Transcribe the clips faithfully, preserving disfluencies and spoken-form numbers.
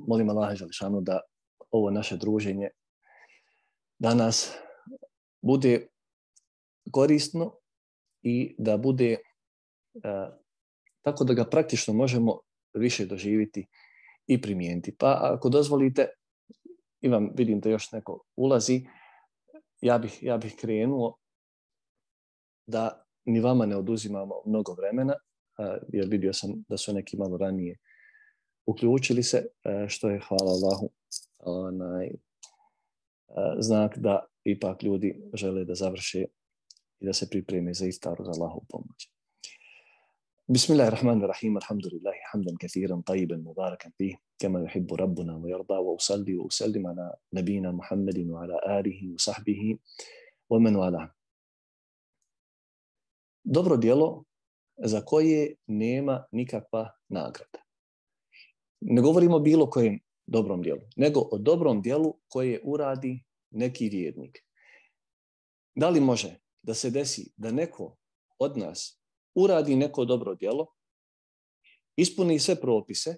molim Allaha dželešanu da ovo naše druženje danas bude korisno i da bude uh, tako da ga praktično možemo više doživjeti i primijeniti. Pa ako dozvolite, imam, vidim da još neko ulazi, ja bih, ja bih krenuo da ni vama ne oduzimamo mnogo vremena, uh, jer vidio sam da su neki malo ranije uključili se, uh, što je, hvala Allahu, onaj, uh, znak da ipak ljudi žele da završe i da se pripreme za iftaru, za Allahovu pomoć. Bismillahirrahmanirrahim, alhamdulillahi hamdan kathiran tayyiban mubarakan fih, kama yuhibbu rabbuna wa yarda, wa usalli wa usallim ala nabina Muhammedin wa ala alihi wa sahbihi wa man wala. Dobro djelo za koje nema nikakva nagrada. Ne govorimo o bilo kojem dobrom djelu, nego o dobrom djelu koje uradi neki vjernik. Da li može da se desi da neko od nas uradi neko dobro djelo, ispuni sve propise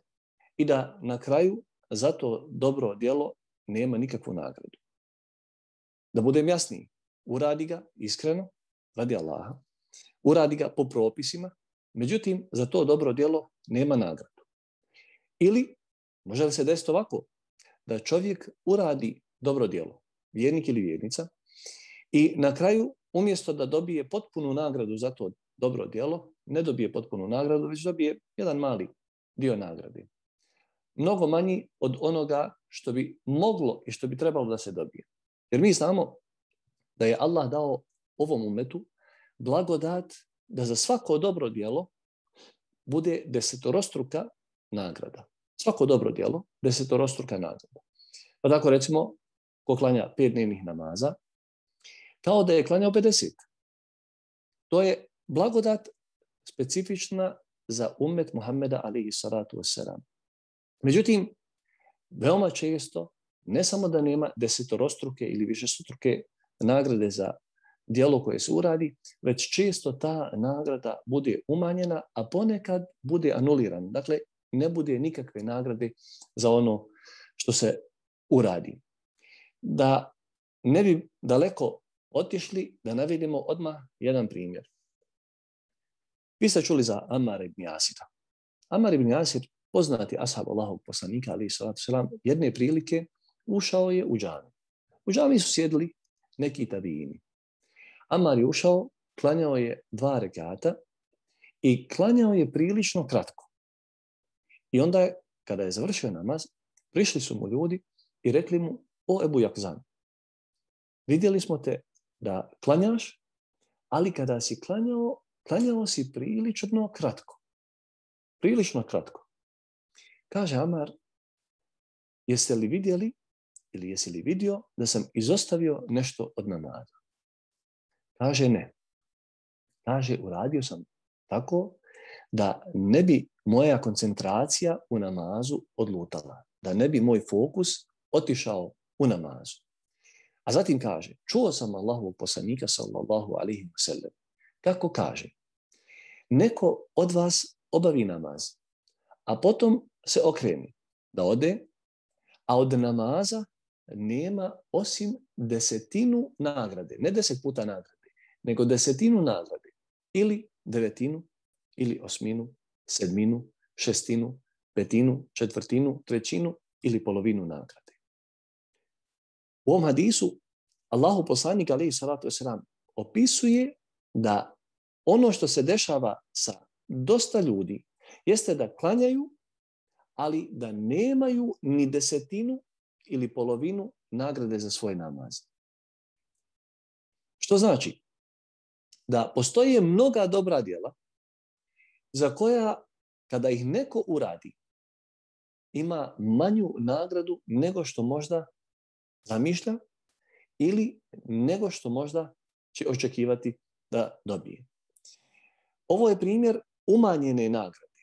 i da na kraju za to dobro djelo nema nikakvu nagradu? Da budem jasniji, uradi ga iskreno, radi Allaha, uradi ga po propisima, međutim za to dobro djelo nema nagradu. Ili može li se desiti ovako, da čovjek uradi dobro djelo, vjernik ili vjernica, i na kraju umjesto da dobije potpunu nagradu za to dobro djelo, ne dobije potpunu nagradu, već dobije jedan mali dio nagrade. Mnogo manji od onoga što bi moglo i što bi trebalo da se dobije. Jer mi znamo da je Allah dao ovom umetu blagodat da za svako dobro djelo bude desetorostruka nagrada. Svako dobro djelo, desetorostruka nagrada. Pa tako recimo, ko klanja pet dnevnih namaza, kao da je klanjao pedeset. To je blagodat specifična za ummet Muhammeda alejhi salatu vesselam. Međutim, veoma često, ne samo da nema desetorostruke ili višestruke nagrade za djelo koje se uradi, već često ta nagrada bude umanjena, a ponekad bude anulirana. Dakle, ne bude nikakve nagrade za ono što se uradi. Da ne bi daleko otišli, da navedemo odmah jedan primjer. Vi ste čuli za Amara ibn Jasira. Amar ibn Jasir, poznati ashab Allahovog poslanika, alejhi salatu vesselam, jedne prilike ušao je u džamiju. U džamiji su sjedili neki tabijini. Amar je ušao, klanjao je dva rekata i klanjao je prilično kratko. I onda je, kada je završio namaz, prišli su mu ljudi i rekli mu: o Ebu Jakzan, vidjeli smo te da klanjaš, ali kada si klanjao, klanjao si prilično kratko. Prilično kratko. Kaže Amar: jeste li vidjeli ili jesi li vidio da sam izostavio nešto od namaza? Kaže ne. Kaže, uradio sam tako da ne bi moja koncentracija u namazu odlutala, da ne bi moj fokus otišao u namazu. A zatim kaže: čuo sam Allahovog poslanika sallallahu alejhi ve sellem kako kaže: neko od vas obavi namaz, a potom se okrene da ode, a od namaza nema osim desetinu nagrade, ne deset puta nagrade, nego desetinu nagrade, ili devetinu, ili osminu, sedminu, šestinu, petinu, četvrtinu, trećinu ili polovinu nagrade. U ovom hadisu Allahu poslanik alejhi salatu vesselam opisuje da ono što se dešava sa dosta ljudi jeste da klanjaju, ali da nemaju ni desetinu ili polovinu nagrade za svoj namaz. Što znači da postoje mnoga dobra djela za koja kada ih neko uradi ima manju nagradu nego što možda zamišlja ili nego što možda će očekivati da dobije. Ovo je primjer umanjene nagrade.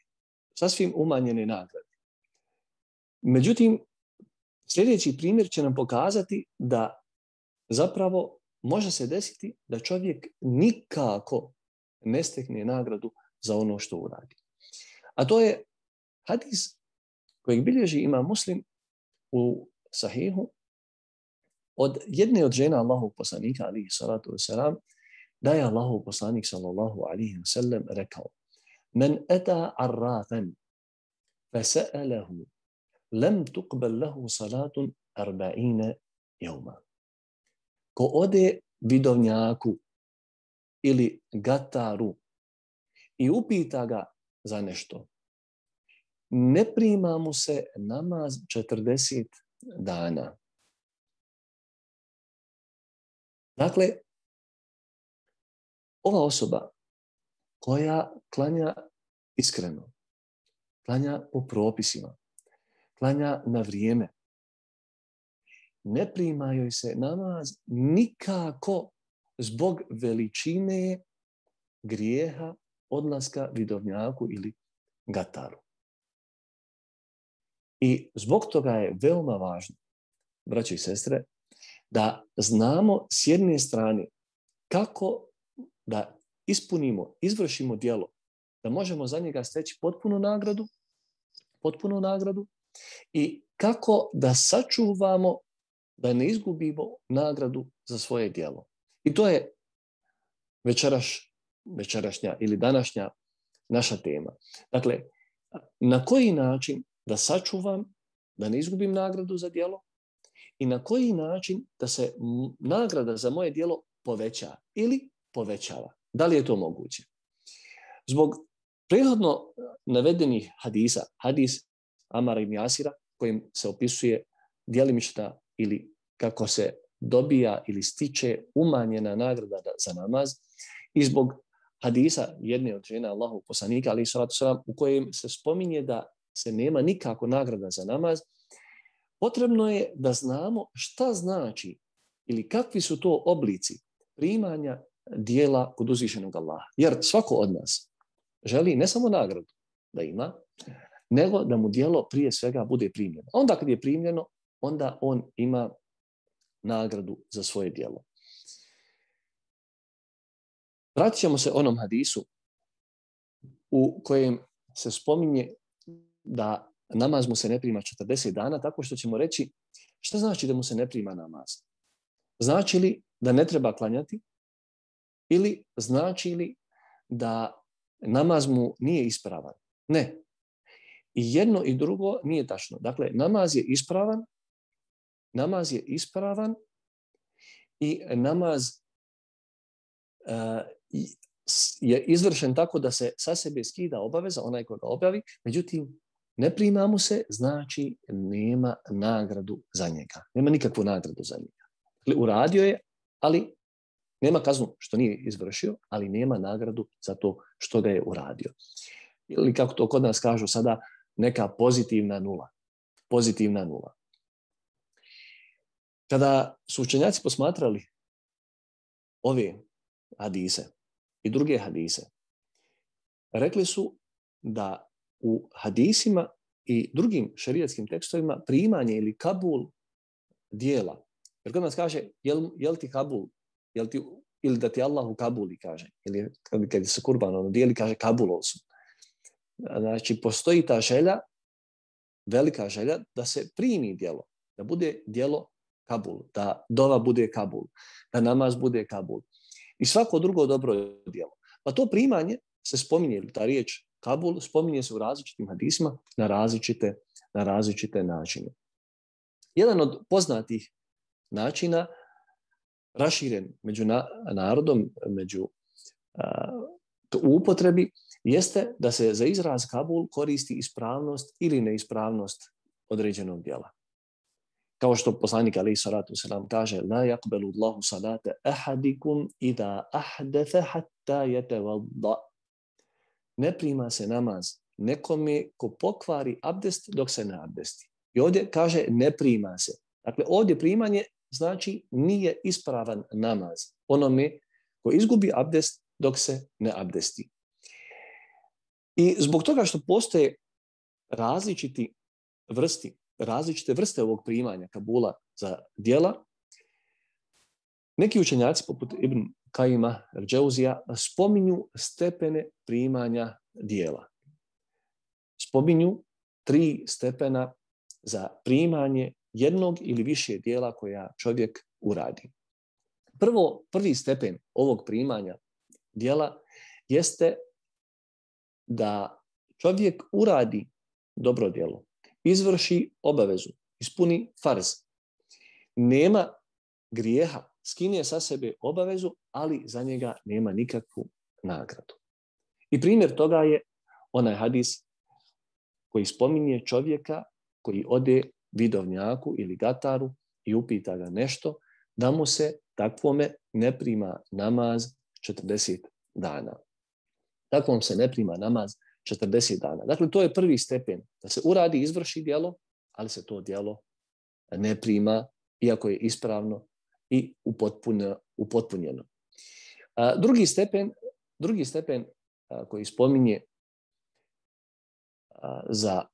Sasvim umanjene nagrade. Međutim, sljedeći primjer će nam pokazati da zapravo može se desiti da čovjek nikako ne stekne nagradu za ono što uradi. A to je hadis kojeg bilježi ima Muslim u Sahihu od jedne od žena Allahovog poslanika alihi salatu wasalam, da je Allahov poslanik sallallahu alihi wasallam rekao: Men ata arrafan fasa'alahu lam tuqbal lahu salatun arba'ina jevma. Ko ode vidovnjaku ili gataru i upita ga za nešto, ne prima mu se namaz četrdeset dana. Dakle, ova osoba koja klanja iskreno, klanja po propisima, klanja na vrijeme, ne prima joj se namaz nikako zbog veličine grijeha odlaska vidovnjaku ili gataru. I zbog toga je veoma važno, braćo i sestre, da znamo s jedne strane kako da ispunimo, izvršimo djelo, da možemo za njega steći potpunu nagradu, potpunu nagradu i kako da sačuvamo, da ne izgubimo nagradu za svoje djelo. I to je večeraš, večerašnja ili današnja naša tema. Dakle, na koji način da sačuvam, da ne izgubim nagradu za djelo i na koji način da se nagrada za moje djelo poveća ili povećava. Da li je to moguće? Zbog prethodno navedenih hadisa, hadis Amara ibn Jasira, kojim se opisuje djelimična ili kako se dobija ili stiče umanjena nagrada za namaz, i zbog hadisa jedne od žena Allahovog poslanika, alejhi salatu vesselam, u kojem se spominje da se nema nikako nagrada za namaz, potrebno je da znamo šta znači ili kakvi su to oblici primanja dijela kod uzvišenog Allaha. Jer svako od nas želi ne samo nagradu da ima, nego da mu dijelo prije svega bude primljeno. Onda kad je primljeno, onda on ima nagradu za svoje dijelo. Vratit ćemo se onom hadisu u kojem se spominje da namaz mu se ne prima četrdeset dana, tako što ćemo reći šta znači da mu se ne prima namaz. Znači li da ne treba klanjati ili znači li da namaz mu nije ispravan? Ne. I jedno i drugo nije tačno. Dakle, namaz je ispravan, namaz je ispravan i namaz uh, je izvršen tako da se sa sebe skida obaveza, onaj ko ga objavi, međutim, ne prima mu se, znači nema nagradu za njega. Nema nikakvu nagradu za njega. Dakle, uradio je, ali nema kaznu što nije izvršio, ali nema nagradu za to što ga je uradio. Ili kako to kod nas kažu sada, neka pozitivna nula. Pozitivna nula. Kada su učenjaci posmatrali ove hadise i druge hadise, rekli su da u hadisima i drugim šerijatskim tekstovima primanje ili kabul dijela. Jer kod nas kaže, jel, jel ti kabul, jel ti, ili da ti Allah u kabuli kaže, ili kad, kad se kurban ono dijeli, kaže kabulol su. Znači, postoji ta želja, velika želja, da se primi dijelo, da bude dijelo kabul, da dova bude kabul, da namaz bude kabul. I svako drugo dobro dijelo. Pa to primanje se spominje, ta riječ kabul, spominje se u različitim hadisima na različite, na različite načine. Jedan od poznatih načina, raširen među na, narodom, među uh, u upotrebi, jeste da se za izraz kabul koristi ispravnost ili neispravnost određenog djela. Kao što poslanik alejhi salatu vesselam kaže: la yaqbalu Allahu salata ahadikum idha ahdatha hatta yatawadda. Ne prima se namaz nekome ko pokvari abdest dok se ne abdesti. I ovdje kaže ne prima se. Dakle, ovdje primanje znači nije ispravan namaz onome ko izgubi abdest dok se ne abdesti. I zbog toga što postoje različiti vrsti, različite vrste ovog primanja kabula za djela, neki učenjaci poput Ibn Kajima al-Džauzija spominju stepene primanja djela. Spominju tri stepena za primanje jednog ili više dijela koja čovjek uradi. Prvo, prvi stepen ovog primanja dijela jeste da čovjek uradi dobro djelo, izvrši obavezu, ispuni farz. Nema grijeha, skine sa sebe obavezu, ali za njega nema nikakvu nagradu. I primjer toga je onaj hadis koji spominje čovjeka koji ode vidovnjaku ili gataru i upita ga nešto, da mu se takvome ne prima namaz četrdeset dana. Takvom se ne prima namaz četrdeset dana. Dakle, to je prvi stepen, da se uradi, izvrši djelo, ali se to djelo ne prima, iako je ispravno i upotpunjeno. A, drugi stepen, drugi stepen a, koji spominje a, za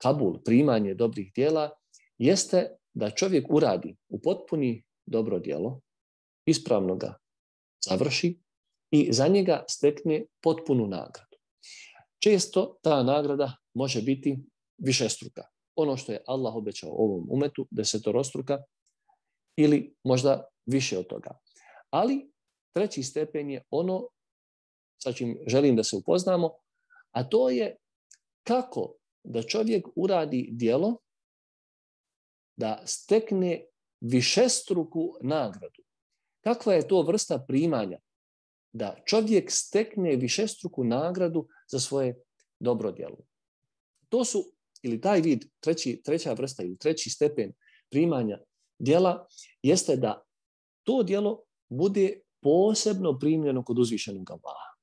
kabul, primanje dobrih djela, jeste da čovjek uradi, upotpuni dobro djelo, ispravno ga završi i za njega stekne potpunu nagradu. Često ta nagrada može biti višestruka. Ono što je Allah obećao ovom umetu, desetorostruka ili možda više od toga. Ali treći stepen je ono sa čim želim da se upoznamo, a to je kako da čovjek uradi djelo da stekne višestruku nagradu. Kakva je to vrsta primanja? Da čovjek stekne višestruku nagradu za svoje dobro djelo. To su, ili taj vid, treći, treća vrsta ili treći stepen primanja djela, jeste da to djelo bude posebno primljeno kod uzvišenog Allaha.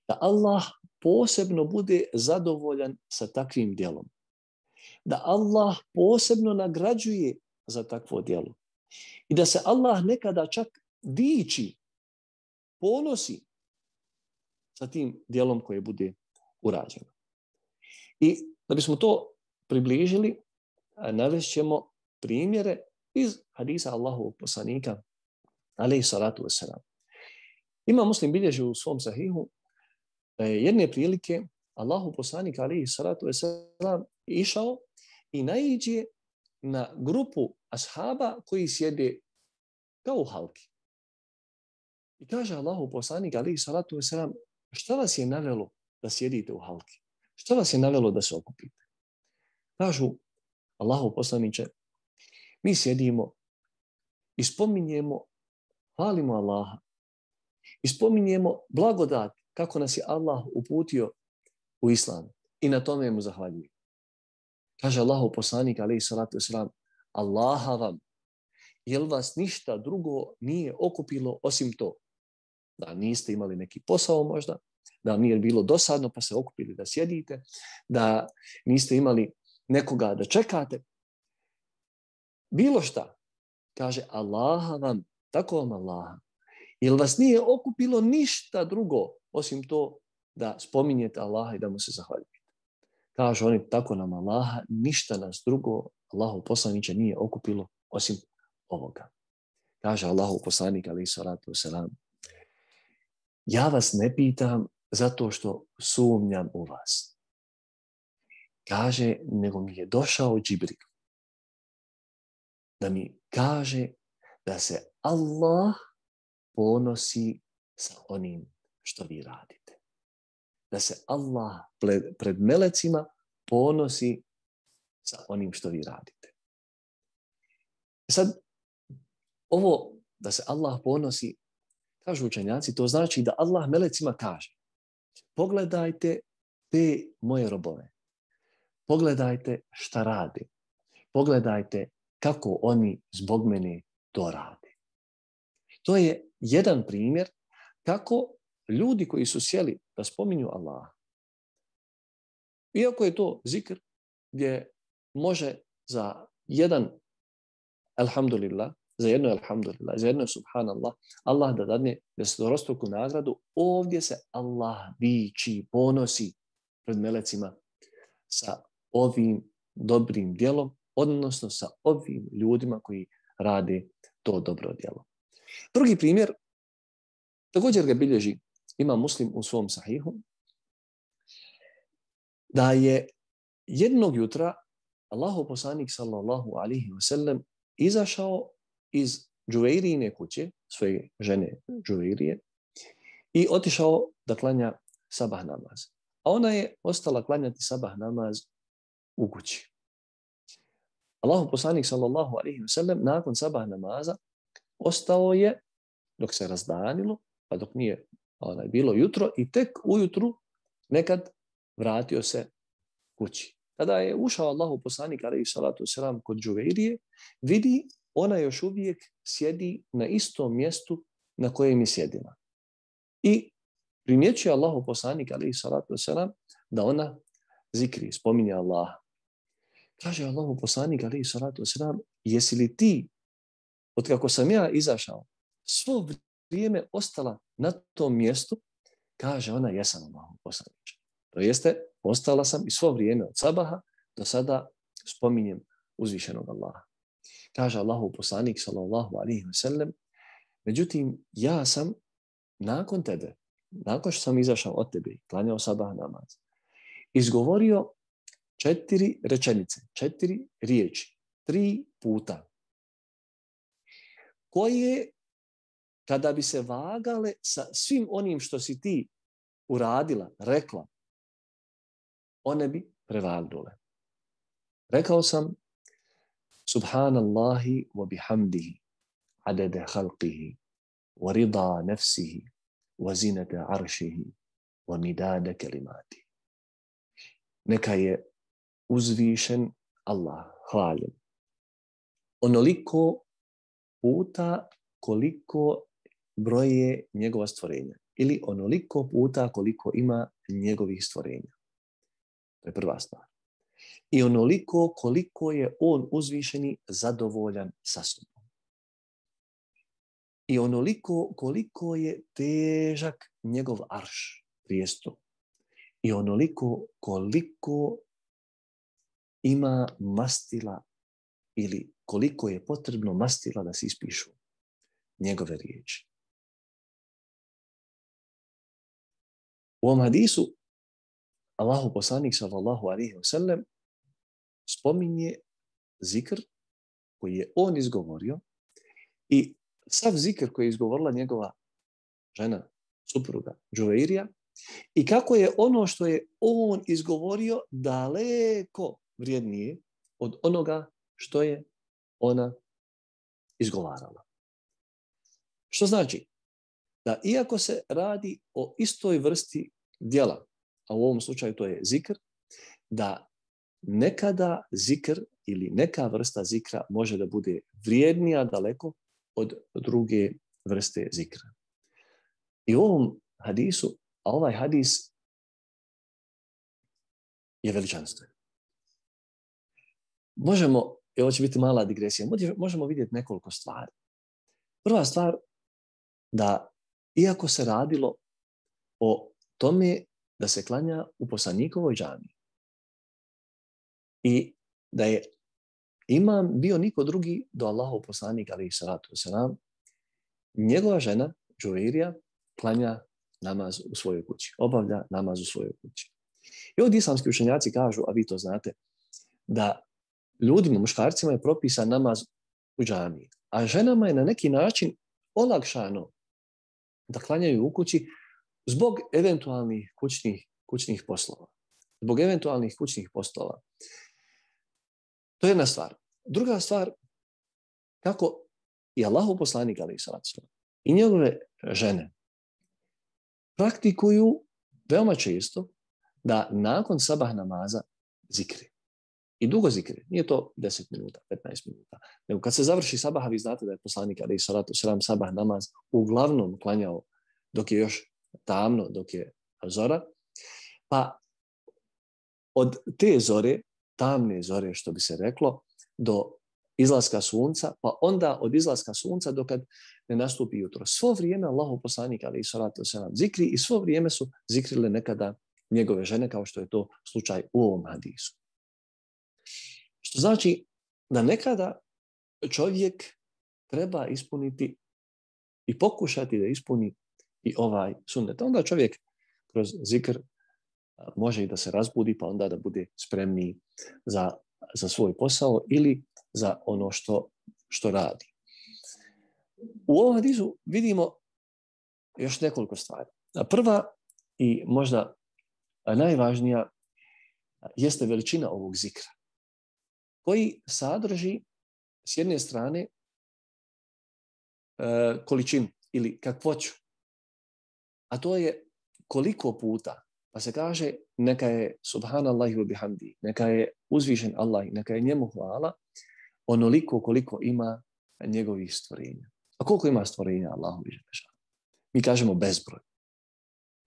Da Allah posebno bude zadovoljan sa takvim djelom. Da Allah posebno nagrađuje za takvo djelo. I da se Allah nekada čak diči, ponosi sa tim djelom koje bude urađeno. I da bismo to približili, navešćemo primjere iz hadisa Allahovog poslanika, alejhi salatu vesselam. Ima Muslim bilježi u svom sahihu da je jedne prilike Allahov poslanik, alejhi salatu vesselam, išao i naiđe na grupu ashaba koji sjede kao u halki. I kaže Allahov poslanik, alejhi salatu vesselam, šta vas je navelo da sjedite u halki? Šta vas je navelo da se okupite? Kažu, Allahov poslaniče, mi sjedimo i spominjemo, hvalimo Allaha i spominjemo blagodat kako nas je Allah uputio u islam i na tome mu zahvaljujemo. Kaže Allahov poslanik, alejhi salatu vesselam, Allaha vam, jel vas ništa drugo nije okupilo osim to? Da niste imali neki posao možda, da vam nije bilo dosadno pa se okupili da sjedite, da niste imali nekoga da čekate. Bilo šta, kaže Allaha vam, tako vam Allaha, jel vas nije okupilo ništa drugo osim to da spominjete Allaha i da mu se zahvaljujete. Kažu oni, tako nam Allaha, ništa nas drugo, Allahov poslaniče, nije okupilo osim ovoga. Kaže Allahov poslanik, alejhi salatu vesselam, ja vas ne pitam zato što sumnjam u vas. Kaže, nego mi je došao Džibril da mi kaže da se Allah ponosi sa onim što vi radite. Da se Allah pred melecima ponosi sa onim što vi radite. Sad, ovo da se Allah ponosi, kažu učenjaci, to znači da Allah melecima kaže, pogledajte te moje robove, pogledajte šta rade, pogledajte kako oni zbog mene to rade. To je jedan primjer kako ljudi koji su sjeli da spominju Allaha, iako je to zikr gdje može za jedan alhamdulillah, za jedno alhamdulillah, za jedno subhanallah, Allah da dadne desetorostruku nagradu, ovdje se Allah diči, ponosi pred melecima sa ovim dobrim djelom, odnosno sa ovim ljudima koji rade to dobro djelo. Drugi primjer, također ga bilježi ima Muslim u svom sahihu, da je jednog jutra Allahov poslanik sallallahu alaihi wa sallam izašao iz Džuvejrijine kuće, svoje žene Džuvejrije, i otišao da klanja sabah namaz. A ona je ostala klanjati sabah namaz u kući. Allahov poslanik sallallahu alaihi wa sallam nakon sabah namaza ostao je dok se razdanilo, pa dok nije onaj, bilo jutro, i tek ujutru nekad vratio se kući. Kada je ušao Allahov poslanik alejhi salatu vesselam kod Džuvejrije, vidi ona još uvijek sjedi na istom mjestu na kojem je sjedila. I primjećuje Allahov poslanik alejhi salatu vesselam da ona zikri, spominje Allaha. Kaže Allahov poslanik alejhi salatu vesselam, jesi li ti, od kako sam ja izašao, svo vrijeme ostala na tom mjestu? Kaže ona, jesam Allahov poslaniče. To jeste, ostala sam i svo vrijeme od sabaha do sada spominjem uzvišenog Allaha. Kaže Allahov poslanik sallallahu alejhi ve sellem, međutim, ja sam nakon tebe, nakon što sam izašao od tebe i klanjao sabah namaz, izgovorio četiri rečenice, četiri riječi, tri puta, koje, kada bi se vagale sa svim onim što si ti uradila, rekla, one bi prevagnule. Rekao sam, Subhanallahi wa bihamdihi, adede halqihi, wa rida nefsihi, wa zinete aršihi, wa midade kelimati. Neka je uzvišen Allah, hvaljen, onoliko puta koliko broje njegova stvorenja, ili onoliko puta koliko ima njegovih stvorenja. To je prva stvar. I onoliko koliko je on uzvišeni zadovoljan sa sobom. I onoliko koliko je težak njegov arš, prijestup. I onoliko koliko ima mastila ili koliko je potrebno mastila da se ispišu njegove riječi. U ovom hadisu Allahu poslanik sallallahu alejhi ve sellem spominje zikr koji je on izgovorio i sav zikr koji je izgovorila njegova žena, supruga Džuvejrija, i kako je ono što je on izgovorio daleko vrijednije od onoga što je ona izgovarala. Što znači da iako se radi o istoj vrsti djela, a u ovom slučaju to je zikr, da nekada zikr ili neka vrsta zikra može da bude vrijednija daleko od druge vrste zikra. I u ovom hadisu, a ovaj hadis je veličanstven. Možemo, i ovo će biti mala digresija, možemo vidjeti nekoliko stvari. Prva stvar, da iako se radilo o tome da se klanja u poslanikovoj džamiji i da je imam bio niko drugi do Allahov poslanik alejhi salatu vesselam, njegova žena Džuvejrija klanja namaz u svojoj kući, obavlja namaz u svojoj kući. I ovdje islamski učenjaci kažu, a vi to znate, da ljudima, muškarcima je propisan namaz u džamiji, a ženama je na neki način olakšano da klanjaju u kući zbog eventualnih kućnih, kućnih poslova. Zbog eventualnih kućnih poslova. To je jedna stvar. Druga stvar, kako i Allahov poslanik alejhi salatu vesselam i njegove žene praktikuju veoma često da nakon sabah namaza zikri. I dugo zikri. Nije to deset minuta, petnaest minuta. Nego kad se završi sabah, vi znate da je poslanik alejhi salatu vesselam sabah namaz uglavnom klanjao dok je još tamno, dok je zora. Pa od te zore, tamne zore što bi se reklo, do izlaska sunca, pa onda od izlaska sunca do kad ne nastupi jutro. Svo vrijeme Allahov poslanik alejhi salatu vesselam zikri i svo vrijeme su zikrile nekada njegove žene, kao što je to slučaj u ovom hadisu. Što znači da nekada čovjek treba ispuniti i pokušati da ispuni i ovaj sunnet. Onda čovjek kroz zikr može i da se razbudi, pa onda da bude spremniji za, za svoj posao ili za ono što, što radi. U ovom hadisu vidimo još nekoliko stvari. Prva i možda najvažnija jeste veličina ovog zikra, koji sadrži s jedne strane količinu ili kakvoću, a to je koliko puta, pa se kaže neka je subhanallahi wa bihamdi, neka je uzvišen Allah, neka je njemu hvala, onoliko koliko ima njegovih stvorenja. A koliko ima stvorenja Allahu i Želešanu? Mi kažemo bezbroj.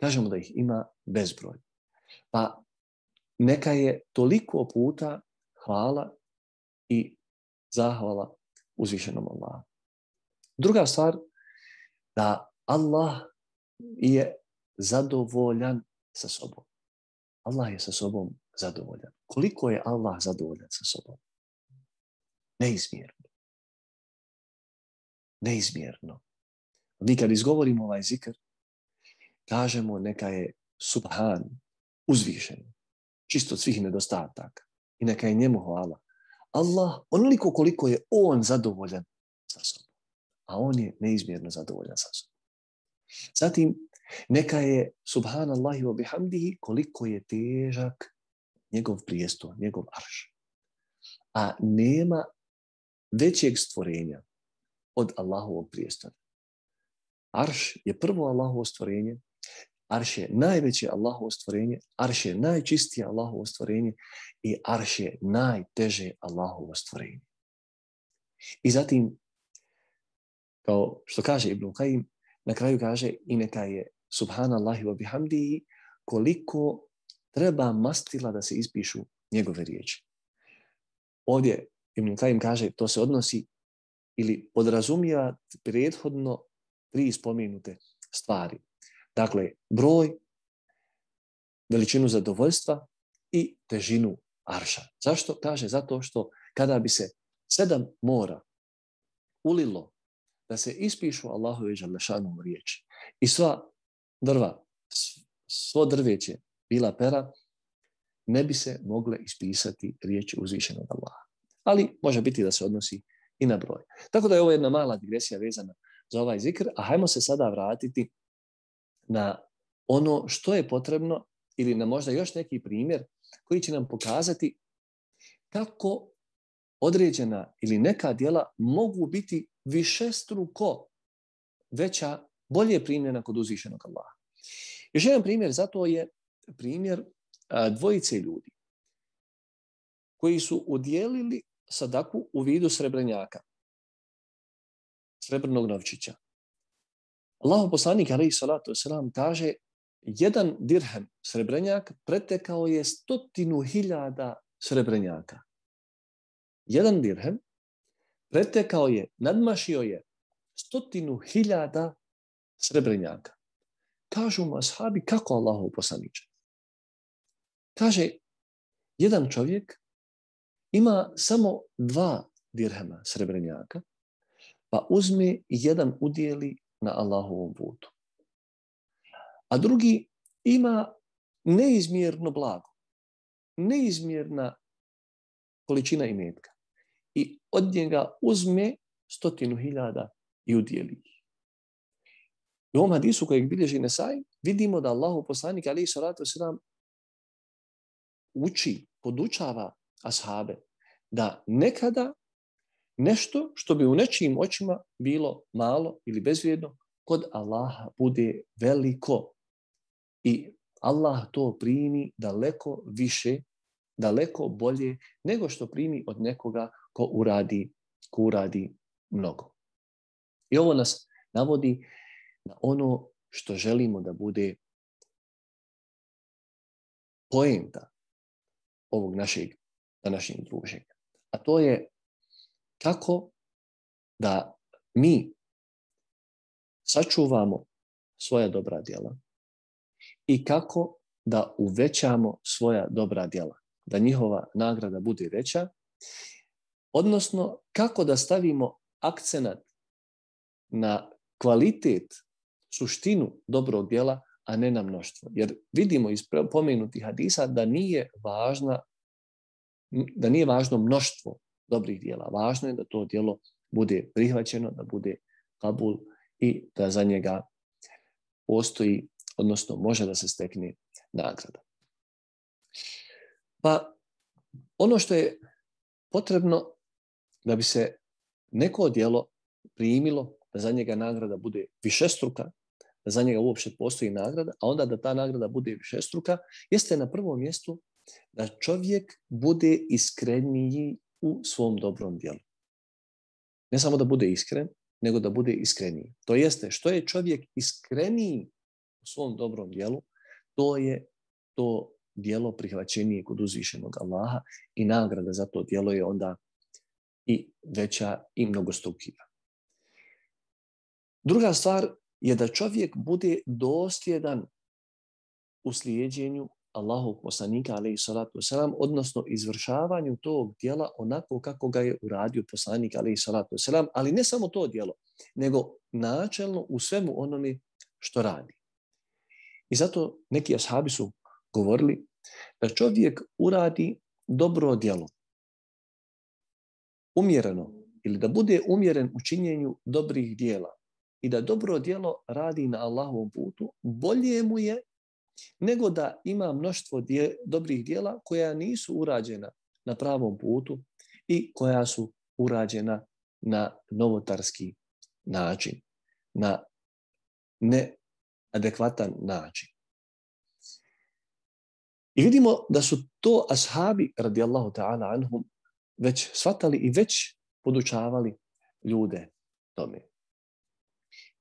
Kažemo da ih ima bezbroj. Pa neka je toliko puta hvala i zahvala uzvišenom Allahu. Druga stvar, da Allah je zadovoljan sa sobom. Allah je sa sobom zadovoljan. Koliko je Allah zadovoljan sa sobom? Neizmjerno. Neizmjerno. Mi kad izgovorimo ovaj zikr, kažemo neka je subhan, uzvišen, čisto od svih nedostataka. I neka je njemu hvala. Allah, onoliko koliko je on zadovoljan sa sobom. A on je neizmjerno zadovoljan sa sobom. Zatim, neka je subhanallahi wa bihamdihi koliko je težak njegov prijestol, njegov arš. A nema većeg stvorenja od Allahovog prijestola. Arš je prvo Allahovo stvorenje, arš je najveće Allahovo stvorenje, arš je najčistije Allahovo stvorenje i arš je najteže Allahovo stvorenje. I zatim, kao što kaže Ibn Qayyim, na kraju kaže i neka je subhanallahi wa bihamdihi koliko treba mastila da se ispišu njegove riječi. Ovdje Ibn Qayyim kaže to se odnosi ili podrazumijeva prethodno tri spomenute stvari. Dakle, broj, veličinu zadovoljstva i težinu arša. Zašto? Kaže zato što kada bi se sedam mora ulilo da se ispišu Allahove Đalešanovu riječi i sva drva, svo drveće bila pera, ne bi se mogle ispisati riječi uzvišenog Allaha. Ali može biti da se odnosi i na broj. Tako da je ovo jedna mala digresija vezana za ovaj zikr, a hajmo se sada vratiti na ono što je potrebno ili na možda još neki primjer koji će nam pokazati kako određena ili neka djela mogu biti višestruko veća, bolje primljena kod uzvišenog Allaha. Još jedan primjer za to je primjer a, dvojice ljudi koji su udjelili sadaku u vidu srebrenjaka, srebrnog novčića. Allahov poslanik alejhi salatu vesselam kaže jedan dirhem srebrenjak pretekao je stotinu hiljada srebrenjaka. Jedan dirhem pretekao je, nadmašio je stotinu hiljada srebrenjaka. Kažu mu ashabi, kako Allahov poslaniče? Kaže, jedan čovjek ima samo dva dirhema srebrenjaka, pa uzme i jedan udjeli na Allahovom putu. A drugi ima neizmjerno blago, neizmjerna količina imetka. I od njega uzme stotinu hiljada i udjeli ih. U ovom hadisu kojeg bilježi Nesai vidimo da Allahov poslanik alejhi salatu vesselam uči, podučava ashabe da nekada nešto što bi u nečijim očima bilo malo ili bezvrijedno, kod Allaha bude veliko. I Allah to primi daleko više, daleko bolje nego što primi od nekoga ko uradi, ko uradi mnogo. I ovo nas navodi na ono što želimo da bude poenta ovog našeg današnjeg druženja. A to je kako da mi sačuvamo svoja dobra djela i kako da uvećamo svoja dobra djela, da njihova nagrada bude veća, odnosno kako da stavimo akcenat na kvalitet, suštinu dobrog djela, a ne na mnoštvo. Jer vidimo iz pomenutih hadisa da nije važna, da nije važno mnoštvo dobrih djela. Važno je da to djelo bude prihvaćeno, da bude kabul i da za njega postoji, odnosno može da se stekne nagrada. Pa ono što je potrebno da bi se neko djelo primilo, da za njega nagrada bude višestruka, da za njega uopće postoji nagrada, a onda da ta nagrada bude višestruka, jeste na prvom mjestu da čovjek bude iskreniji u svom dobrom djelu. Ne samo da bude iskren, nego da bude iskreniji. To jeste, što je čovjek iskreniji u svom dobrom djelu, to je to djelo prihvaćenije kod uzvišenog Allaha i nagrada za to djelo je onda i veća i mnogostrukija. Druga stvar je da čovjek bude dosljedan u slijedjenju Allahovog poslanika, alejhi salatu vesselam, odnosno izvršavanju tog djela onako kako ga je uradio poslanik, alejhi salatu vesselam, ali ne samo to djelo, nego načelno u svemu onome što radi. I zato neki ashabi su govorili da čovjek uradi dobro djelo, umjereno, ili da bude umjeren u činjenju dobrih djela i da dobro djelo radi na Allahovom putu, bolje mu je nego da ima mnoštvo dje, dobrih djela koja nisu urađena na pravom putu i koja su urađena na novotarski način, na neadekvatan način. I vidimo da su to ashabi, radijallahu ta'ala anhum, već shvatali i već podučavali ljude tome.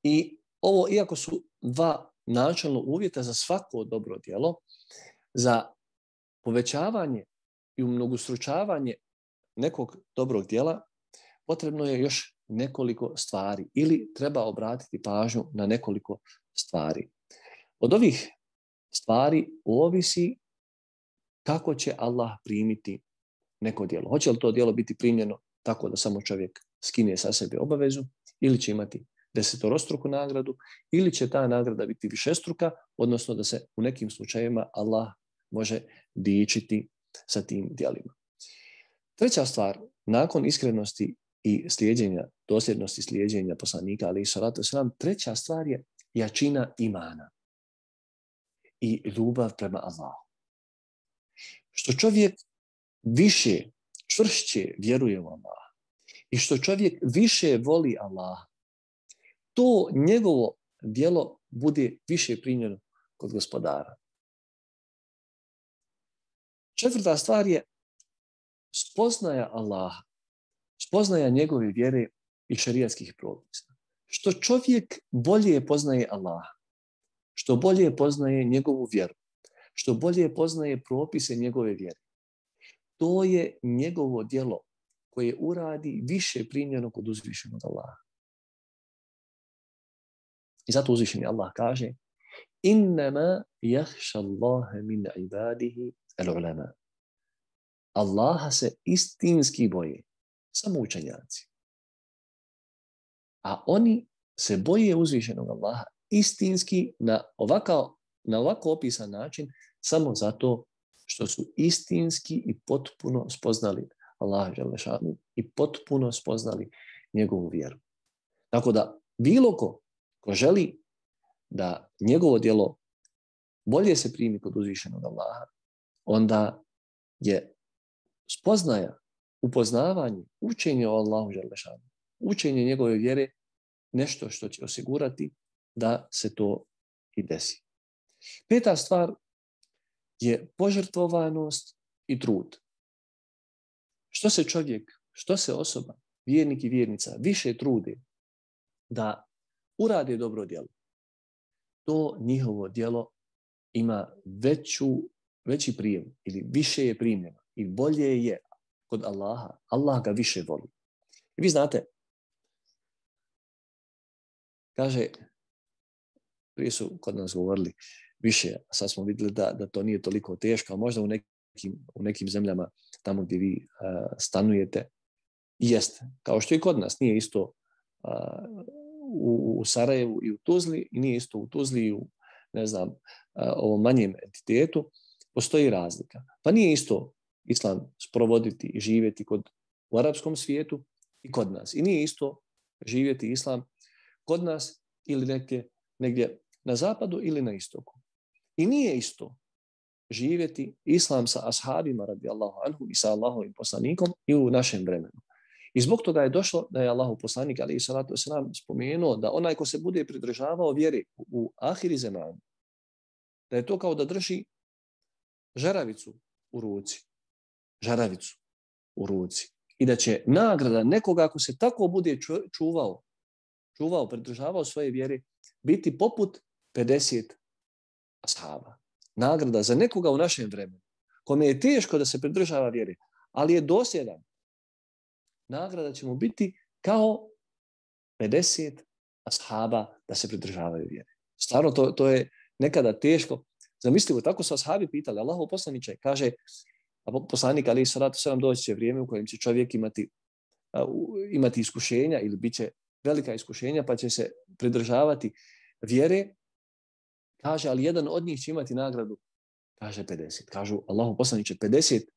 I ovo, iako su dva načelno uvjeta za svako dobro djelo, za povećavanje i umnogostručavanje nekog dobrog djela, potrebno je još nekoliko stvari ili treba obratiti pažnju na nekoliko stvari. Od ovih stvari ovisi kako će Allah primiti neko djelo. Hoće li to djelo biti primljeno tako da samo čovjek skine sa sebe obavezu ili će imati desetorostruku nagradu ili će ta nagrada biti višestruka, odnosno da se u nekim slučajevima Allah može dičiti sa tim djelima. Treća stvar, nakon iskrenosti i slijedjenja, dosljednosti slijedjenja poslanika, alejhi salatu vesselam, treća stvar je jačina imana i ljubav prema Allahu. Što čovjek više, čvršće vjeruje u Allaha i što čovjek više voli Allaha, to njegovo djelo bude više primljeno kod gospodara. Četvrta stvar je spoznaja Allaha, spoznaja njegove vjere i šerijatskih propisa. Što čovjek bolje poznaje Allaha, što bolje poznaje njegovu vjeru, što bolje poznaje propise njegove vjere, to je njegovo djelo koje uradi više primljeno kod uzvišenog Allaha. I zato uzvišeni Allah kaže: Innama jahša Allahe min ibadihi al-ulama. Allaha se istinski boje samo učenjaci. A oni se boje uzvišenog Allaha istinski na ovako, na ovako opisan način samo zato što su istinski i potpuno spoznali Allaha dželle šanu i potpuno spoznali njegovu vjeru. Tako da bilo ko ko želi da njegovo djelo bolje se primi kod uzvišenog Allaha, onda je spoznaja, upoznavanje, učenje o Allahu dželle šanu, učenje njegove vjere nešto što će osigurati da se to i desi. Peta stvar je požrtvovanost i trud. Što se čovjek, što se osoba, vjernik i vjernica više trude da urade dobro djelo, to njihovo djelo ima veću, veći prijem ili više je primljeno i bolje je kod Allaha. Allah ga više voli. I vi znate, kaže, prije su kod nas govorili više, a sad smo vidjeli da, da to nije toliko teško, a možda u nekim, u nekim zemljama tamo gdje vi uh, stanujete, jeste. Kao što i kod nas, nije isto uh, u, u Sarajevu i u Tuzli, i nije isto u Tuzli i u ne znam, ovom manjem entitetu, postoji razlika. Pa nije isto islam sprovoditi i živjeti kod, u arapskom svijetu i kod nas. I nije isto živjeti islam kod nas ili negdje, negdje na zapadu ili na istoku. I nije isto živjeti islam sa ashabima radijallahu anhum i sa Allahovim poslanikom i u našem vremenu. I zbog toga je došlo da je Allahov poslanik alejhi salatu vesselam spomenuo da onaj ko se bude pridržavao vjere u ahiri zemanu, da je to kao da drži žaravicu u ruci. Žaravicu u ruci. I da će nagrada nekoga ako se tako bude čuvao, čuvao, pridržavao svoje vjere, biti poput pedeset ashaba. Nagrada za nekoga u našem vremenu, kome je teško da se pridržava vjere, ali je dosljedan. Nagrada će mu biti kao pedeset ashaba da se pridržavaju vjere. Stvarno, to, to je nekada teško. Zamislite, tako su ashabi pitali, Allahov poslaniče, kaže, a poslanik alejhi salatu vesselam, doći će vrijeme u kojem će čovjek imati, uh, imati iskušenja ili bit će velika iskušenja, pa će se pridržavati vjere. Kaže, ali jedan od njih će imati nagradu. Kaže pedeset. Kažu, Allahov poslaniče, pedeset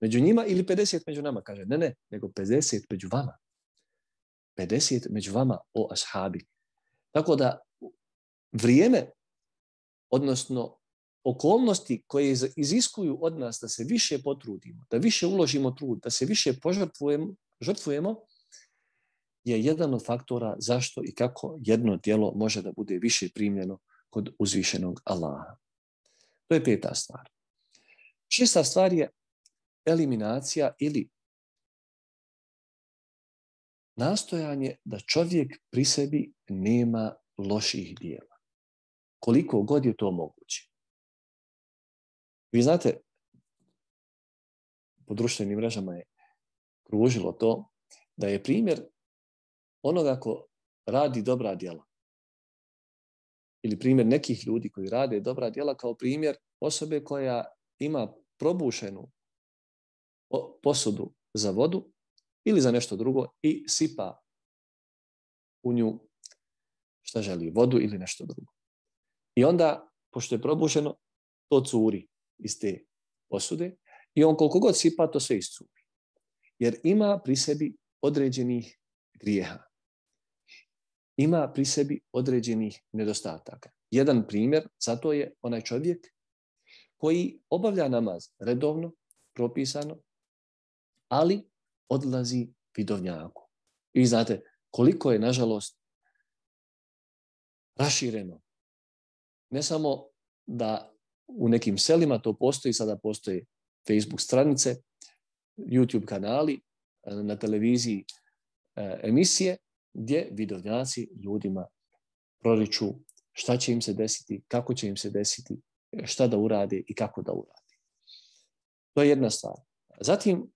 među njima ili pedeset među nama? Kaže, ne, ne, nego pedeset među vama. pedeset među vama, o ashabi. Tako da vrijeme, odnosno okolnosti koje iziskuju od nas da se više potrudimo, da više uložimo trud, da se više požrtvujemo, žrtvujemo, je jedan od faktora zašto i kako jedno djelo može da bude više primljeno kod uzvišenog Allaha. To je peta stvar. Šesta stvar je eliminacija ili nastojanje da čovjek pri sebi nema loših djela. Koliko god je to moguće. Vi znate, po društvenim mrežama je kružilo to da je primjer onoga ko radi dobra djela. Ili primjer nekih ljudi koji rade dobra djela kao primjer osobe koja ima probušenu posudu za vodu ili za nešto drugo i sipa u nju šta želi, vodu ili nešto drugo. I onda, pošto je probušeno, to curi iz te posude i on koliko god sipa, to sve iscuri. Jer ima pri sebi određenih grijeha. Ima pri sebi određenih nedostataka. Jedan primjer zato je onaj čovjek koji obavlja namaz redovno, propisano, ali odlazi vidovnjaku. I vi znate koliko je, nažalost, rašireno. Ne samo da u nekim selima to postoji, sada postoje Facebook stranice, YouTube kanali, na televiziji emisije, gdje vidovnjaci ljudima proriču šta će im se desiti, kako će im se desiti, šta da urade i kako da urade. To je jedna stvar. Zatim,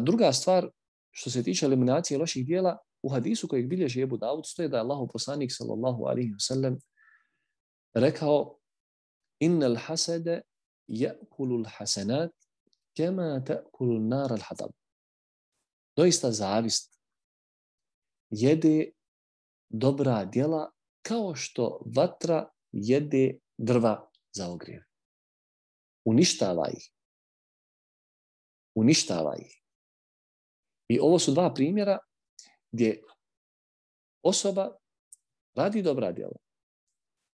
druga stvar, što se tiče eliminacije loših djela, u hadisu kojeg bilježi Ebu Davud stoji da je Allahov poslanik sallallahu alejhi ve sellem rekao: innal hasada ya'kulu al-hasanat kama ta'kulu an-nar al-hatab. Doista zavist jede dobra djela kao što vatra jede drva za ogrjev. Uništava ih. Uništava ih. I ovo su dva primjera gdje osoba radi dobra djela,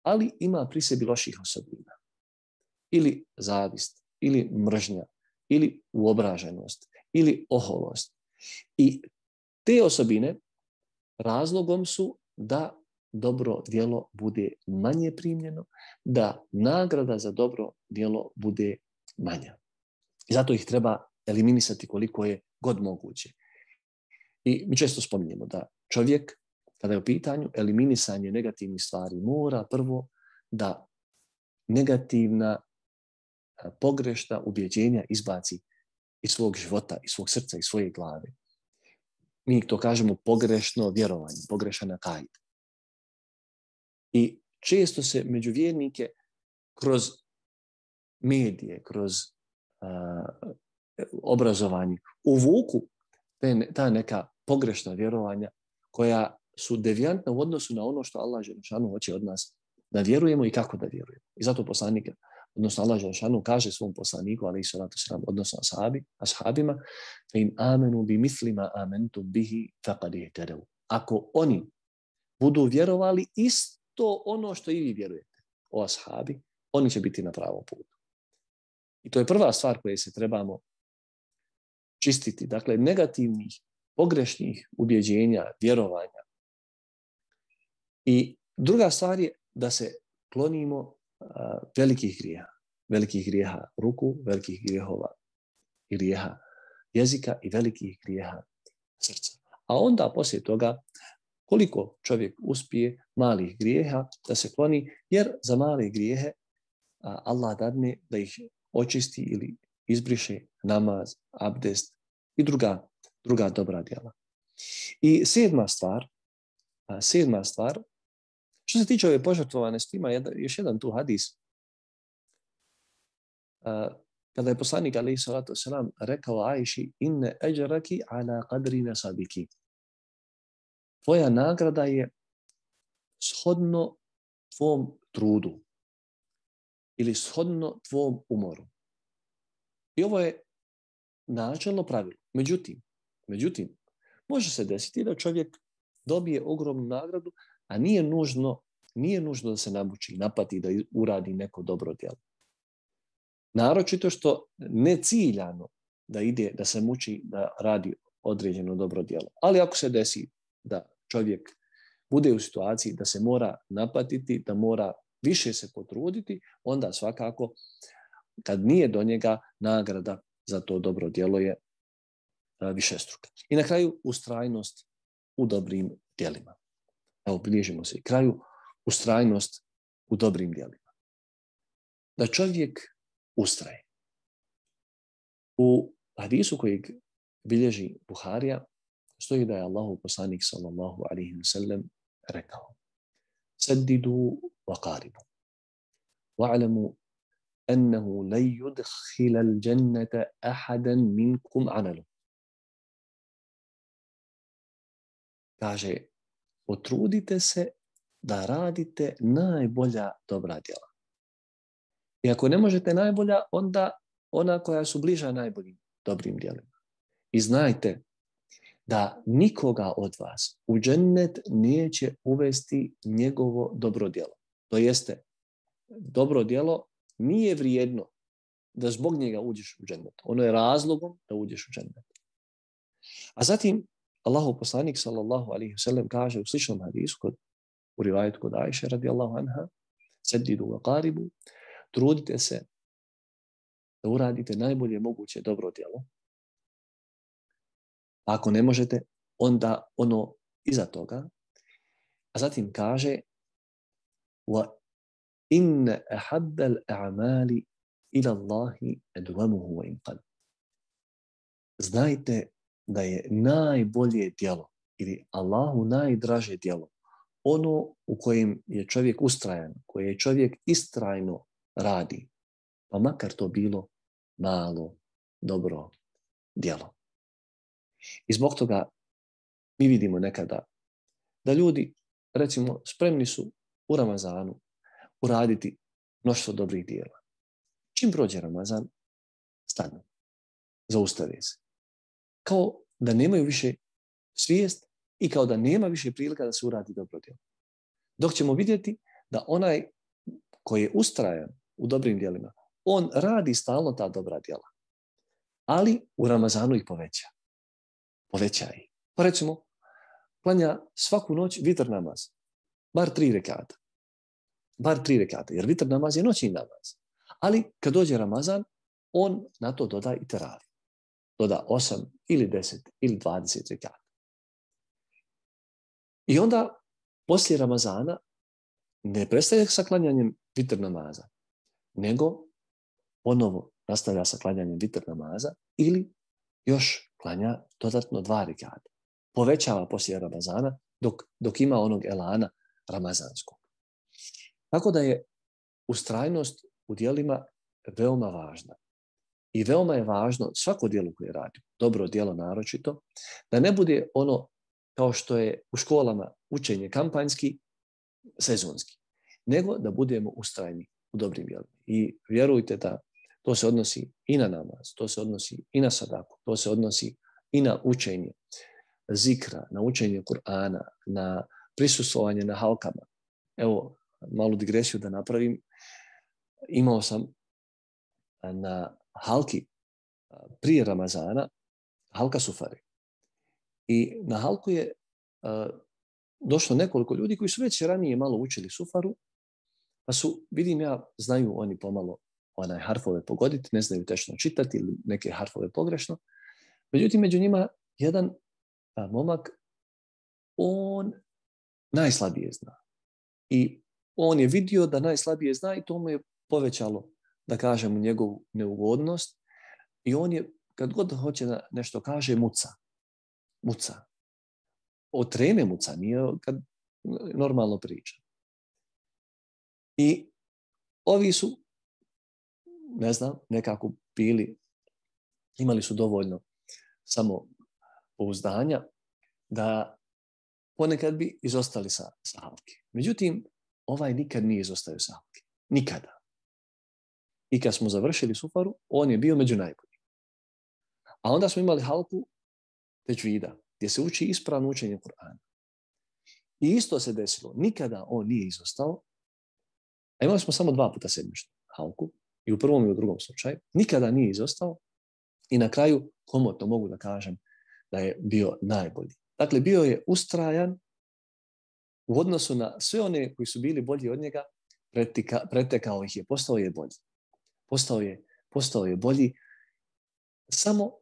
ali ima pri sebi loših osobina. Ili zavist, ili mržnja, ili uobraženost, ili oholost. I te osobine razlogom su da dobro djelo bude manje primljeno, da nagrada za dobro djelo bude manja. I zato ih treba eliminisati koliko je god moguće. I mi često spominjemo da čovjek, kada je u pitanju eliminisanje negativnih stvari, mora prvo da negativna, pogrešna ubjeđenja izbaci iz svog života, iz svog srca, iz svoje glave. Mi to kažemo pogrešno vjerovanje, pogrešan akaid. I često se među vjernike kroz medije, kroz uh, obrazovanje uvuku te, ta neka pogrešna vjerovanja koja su devijantna u odnosu na ono što Allah dželešanu hoće od nas Da vjerujemo i kako da vjerujemo. I zato poslanik, odnosno Allah dželešanu kaže svom poslaniku, alejhi salatu vesselam, odnosno ashabi, ashabima, fa in amenu bi mislima amantum bihi faqad ihtadaw. Ako oni budu vjerovali isto ono što i vi vjerujete, o ashabi, oni će biti na pravom putu. I to je prva stvar koje se trebamo čistiti. Dakle, negativnih, pogrešnih ubjeđenja, vjerovanja. I druga stvar je da se klonimo uh, velikih grijeha. Velikih grijeha ruku, velikih grijehova i grijeha jezika i velikih grijeha srca. A onda poslije toga koliko čovjek uspije malih grijeha da se kloni, jer za male grijehe a, Allah dadne da ih očisti ili izbriše namaz, abdest i druga, druga dobra djela. I sedma stvar, a, sedma stvar, što se tiče ove požrtvovanosti, ima jedan, još jedan tu hadis. A, kada je poslanik alejhi salatu vesselam rekao Ajši, inne ajraki ala qadri nasabiki. Tvoja nagrada je shodno tvom trudu ili shodno tvom umoru. I ovo je načelno pravilo. Međutim, međutim, može se desiti da čovjek dobije ogromnu nagradu, a nije nužno, nije nužno da se namuči, napati, da uradi neko dobro djelo. Naročito što ne ciljano da ide, da se muči, da radi određeno dobro djelo. Ali ako se desi da čovjek bude u situaciji da se mora napatiti, da mora više se potruditi, onda svakako kad nije do njega, nagrada za to dobro djelo je višestruka. I na kraju ustrajnost u dobrim djelima. Evo, bližimo se i kraju, ustrajnost u dobrim djelima. Da čovjek ustraje. U hadisu kojeg bilježi Buharija stoji da je Allahov poslanik sallallahu alejhi ve sellem rekao: Saddidu wa qaribu. Wa'lamu annahu la yudkhila al-jannata ahadan minkum amalu. Kaže, potrudite se da radite najbolja dobra djela. I ako ne možete najbolja, onda ona koja su bliža najboljim dobrim djelima. I znajte da nikoga od vas u džennet neće uvesti njegovo dobro djelo. To jeste, dobro djelo nije vrijedno da zbog njega uđeš u džennet. Ono je razlogom da uđeš u džennet. A zatim, Allahov poslanik sallallahu alejhi ve sellem kaže u sličnom hadisu, kod, u rivajetu kod Ajše radijallahu anha, Saddidu wa qaribu, trudite se da uradite najbolje moguće dobro djelo. Ako ne možete, onda ono iza toga. A zatim kaže wa inna ahabbal a'mali ila Allahi adwamuhu wa in qal. Znajte da je najbolje djelo ili Allahu najdraže djelo ono u kojem je čovjek ustrajan, koje je čovjek istrajno radi, pa makar to bilo malo dobro djelo. I zbog toga mi vidimo nekada da ljudi, recimo, spremni su u Ramazanu uraditi mnoštvo dobrih djela. Čim prođe Ramazan, stanu, zaustave se. Kao da nemaju više svijest i kao da nema više prilika da se uradi dobro djelo. Dok ćemo vidjeti da onaj koji je ustrajan u dobrim djelima, on radi stalno ta dobra djela. Ali u Ramazanu ih poveća. Poveća ih. Pa recimo, klanja svaku noć vitr namaz. Bar tri rekata. Bar tri rekata. Jer vitr namaz je noćni namaz. Ali kad dođe Ramazan, on na to doda i teravi. Doda osam ili deset ili dvadeset rekata. I onda, poslije Ramazana, ne prestaje sa klanjanjem vitr namaza, nego ponovo nastavlja sa klanjanjem vitr namaza ili još klanja dodatno dva rekata. Povećava poslije Ramazana dok, dok ima onog elana ramazanskog. Tako da je ustrajnost u djelima veoma važna. I veoma je važno svako djelo koje radi, dobro djelo naročito, da ne bude ono kao što je u školama učenje kampanjski, sezonski. nego da budemo ustrajni u dobrim djelima. I vjerujte da to se odnosi i na namaz, to se odnosi i na sadaku, to se odnosi i na učenje zikra, na učenje Kur'ana, na prisustvovanje na halkama. Evo, malu digresiju da napravim. Imao sam na halki prije Ramazana halka sufari. I na halku je uh, došlo nekoliko ljudi koji su već ranije malo učili sufaru, pa su, vidim ja, znaju oni pomalo onaj harfove pogoditi, ne znaju tečno čitati ili neke harfove pogrešno. Međutim, među njima jedan a, momak, on najslabije zna. I on je vidio da najslabije zna i to mu je povećalo, da kažem, njegovu neugodnost. I on je, kad god hoće da nešto kaže, muca. Muca. Od treme muca, nije kad normalno priča. I ovi su, ne znam, nekako bili, imali su dovoljno samo pouzdanja da ponekad bi izostali sa, sa halke. Međutim, ovaj nikad nije izostavio sa halke. Nikada. I kad smo završili sufaru, on je bio među najboljim. A onda smo imali halku teđvida, gdje se uči ispravno učenje Kur'ana. I isto se desilo. Nikada on nije izostao. A imali smo samo dva puta sedmičnu halku. I u prvom i u drugom slučaju. Nikada nije izostao. I na kraju, komotno mogu da kažem da je bio najbolji. Dakle, bio je ustrajan u odnosu na sve one koji su bili bolji od njega, pretika, pretekao ih je, postao je bolji. Postao je, postao je bolji samo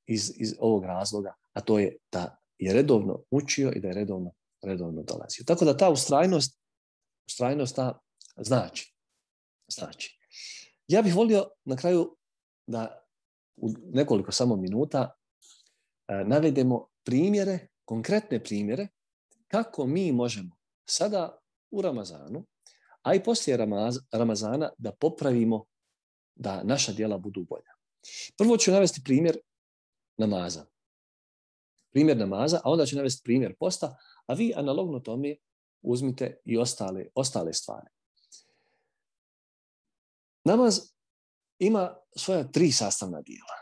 iz, iz ovog razloga, a to je da je redovno učio i da je redovno, redovno dolazio. Tako da ta ustrajnost, ustrajnost ta znači. znači. Ja bih volio na kraju da u nekoliko samo minuta navedemo primjere, konkretne primjere kako mi možemo sada u Ramazanu, a i poslije Ramaz, Ramazana da popravimo da naša djela budu bolja. Prvo ću navesti primjer namaza. Primjer namaza, a onda ću navesti primjer posta, a vi analogno tome uzmite i ostale, ostale stvari. Namaz ima svoja tri sastavna dijela.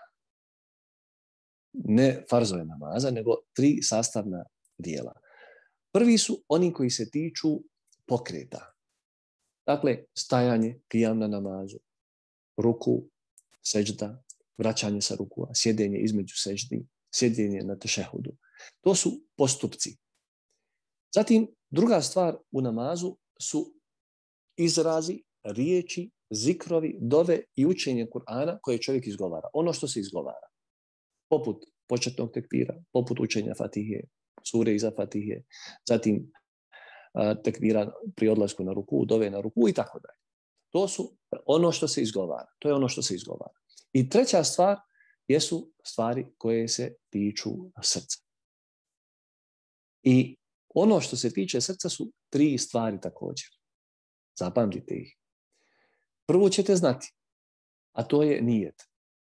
Ne farzove namaza, nego tri sastavna dijela. Prvi su oni koji se tiču pokreta. Dakle, stajanje, qiyam na namazu, ruku, seđda, vraćanje sa rukua, sjedenje između seđdi, sjedenje na tešehudu. To su postupci. Zatim, druga stvar u namazu su izrazi, riječi, zikrovi, dove i učenje Kur'ana koje čovjek izgovara. Ono što se izgovara. Poput početnog tekbira, poput učenja Fatihe, sure iza Fatihe, zatim a, tekbira pri odlasku na ruku, dove na ruku i tako dalje. To su ono što se izgovara. To je ono što se izgovara. I treća stvar jesu stvari koje se tiču srca. I ono što se tiče srca su tri stvari također. Zapamtite ih. Prvo ćete znati, a to je nijet.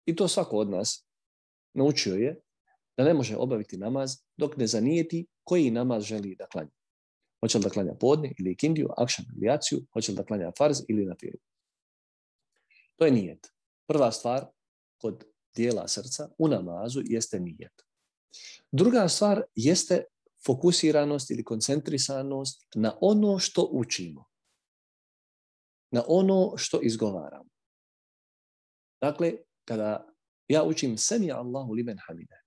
I to svako od nas naučio je da ne može obaviti namaz dok ne zanijeti koji namaz želi da klanja. Hoće li da klanja podne ili ikindiju, akšan ili jaciju, hoće li da klanja farz ili nafilu. To je nijet. Prva stvar kod dijela srca u namazu jeste nijet. Druga stvar jeste fokusiranost ili koncentrisanost na ono što učimo. Na ono što izgovaramo. Dakle, kada ja učim sami Allahu limen hamide,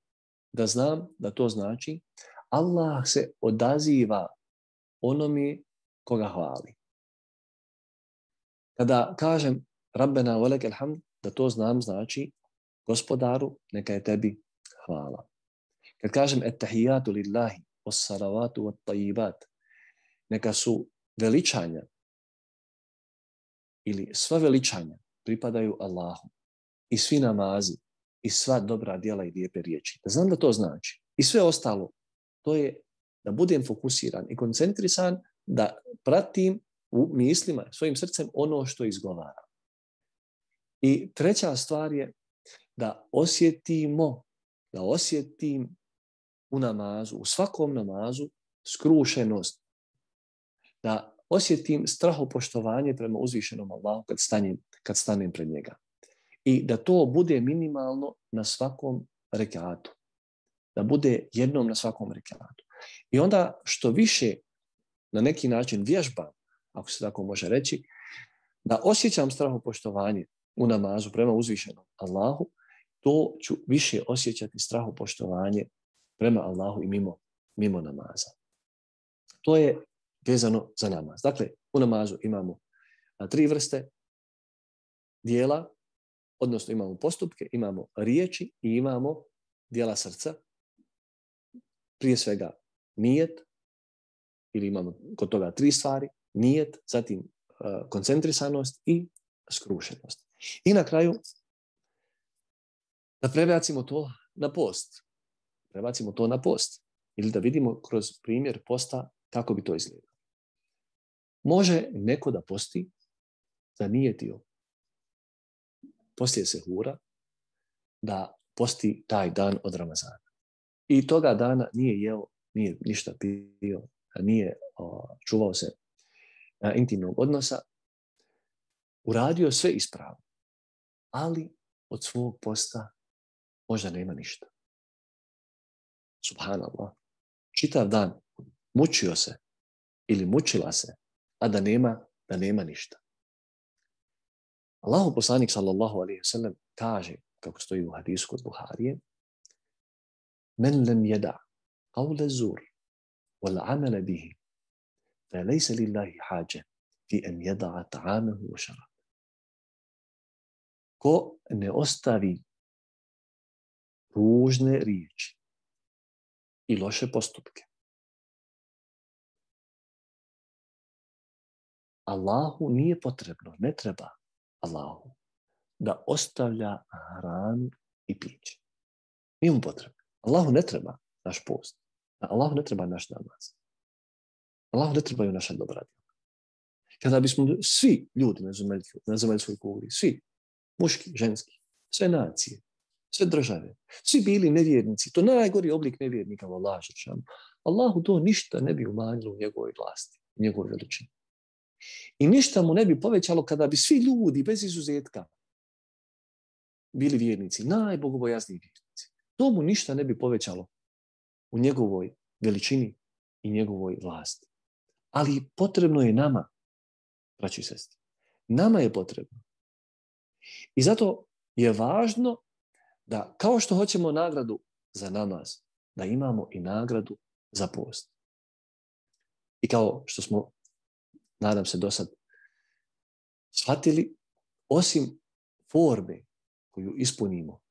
da znam da to znači Allah se odaziva onome koga hvali. Kada kažem Rabbena wa lekel hamd, da to znam znači Gospodaru, neka je tebi hvala. Kad kažem ettahijatu lillahi, wassalavatu wat tayibat, neka su veličanja ili sva veličanja pripadaju Allahu i svi namazi i sva dobra djela i lijepe riječi. Da znam da to znači. I sve ostalo, to je da budem fokusiran i koncentrisan, da pratim u mislima, svojim srcem ono što izgovaram. I treća stvar je da osjetimo, da osjetim u namazu, u svakom namazu skrušenost. Da osjetim strahopoštovanje prema uzvišenom Allahu kad stanem, kad stanem pred njega. I da to bude minimalno na svakom rekatu. Da bude jednom na svakom rekatu. I onda što više na neki način vježbam, ako se tako može reći, da osjećam strahopoštovanje u namazu prema uzvišenom Allahu, to ću više osjećati strahopoštovanje prema Allahu i mimo, mimo namaza. To je vezano za namaz. Dakle, u namazu imamo tri vrste dijela, odnosno imamo postupke, imamo riječi i imamo dijela srca. Prije svega nijet, ili imamo kod toga tri stvari, nijet, zatim uh, koncentrisanost i skrušenost. I na kraju da prebacimo to na post. Prebacimo to na post. Ili da vidimo kroz primjer posta kako bi to izgledalo. Može neko da posti zanijetio poslije sehura da posti taj dan od Ramazana. I toga dana nije jeo, nije ništa pio, nije o, čuvao se a, intimnog odnosa, uradio sve ispravno, ali od svog posta možda nema ništa. Subhanallah. Čitav dan mučio se ili mučila se, a da nema, da nema ništa. Allahu poslanik sallallahu alejhi ve sellem kaže, kako stoji u hadisu kod Buharije, men lem yada qawla zur wal amala bihi fa laysa lillahi haja fi an yada'a ta'amahu wa sharab. Ko ne ostavi ružne riječi i loše postupke, Allahu nije potrebno, ne treba Allahu da ostavlja hranu i piće. Nije mu potrebno. Allahu ne treba naš post. Allahu ne treba naš namaz. Allahu ne trebaju naša dobra djela. Kada bismo svi ljudi na zemaljskoj kugli, svi, muški, ženski, sve nacije, sve države, svi bili nevjernici, to najgori oblik nevjernika, Allah, Allahu to ništa ne bi umanjilo u njegovoj vlasti, u njegovoj veličini. I ništa mu ne bi povećalo kada bi svi ljudi bez izuzetka bili vjernici, najbogobojazniji vjernici. To mu ništa ne bi povećalo u njegovoj veličini i njegovoj vlasti. Ali potrebno je nama, braći i sestri. Nama je potrebno. I zato je važno da kao što hoćemo nagradu za namaz, da imamo i nagradu za post. I kao što smo, nadam se, do sad shvatili, osim forme koju ispunimo,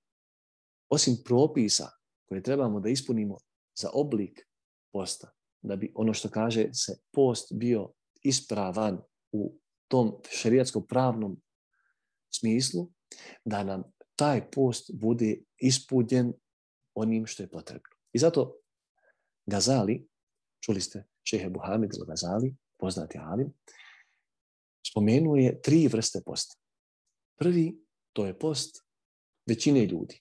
osim propisa koje trebamo da ispunimo za oblik posta, da bi ono što kaže se post bio ispravan u tom šerijatskom pravnom smislu, da nam taj post bude ispunjen onim što je potrebno. I zato Gazali, čuli ste šejh Ebu Hamid al-Gazali, poznati alim, spomenuo je tri vrste posta. Prvi, to je post većine ljudi.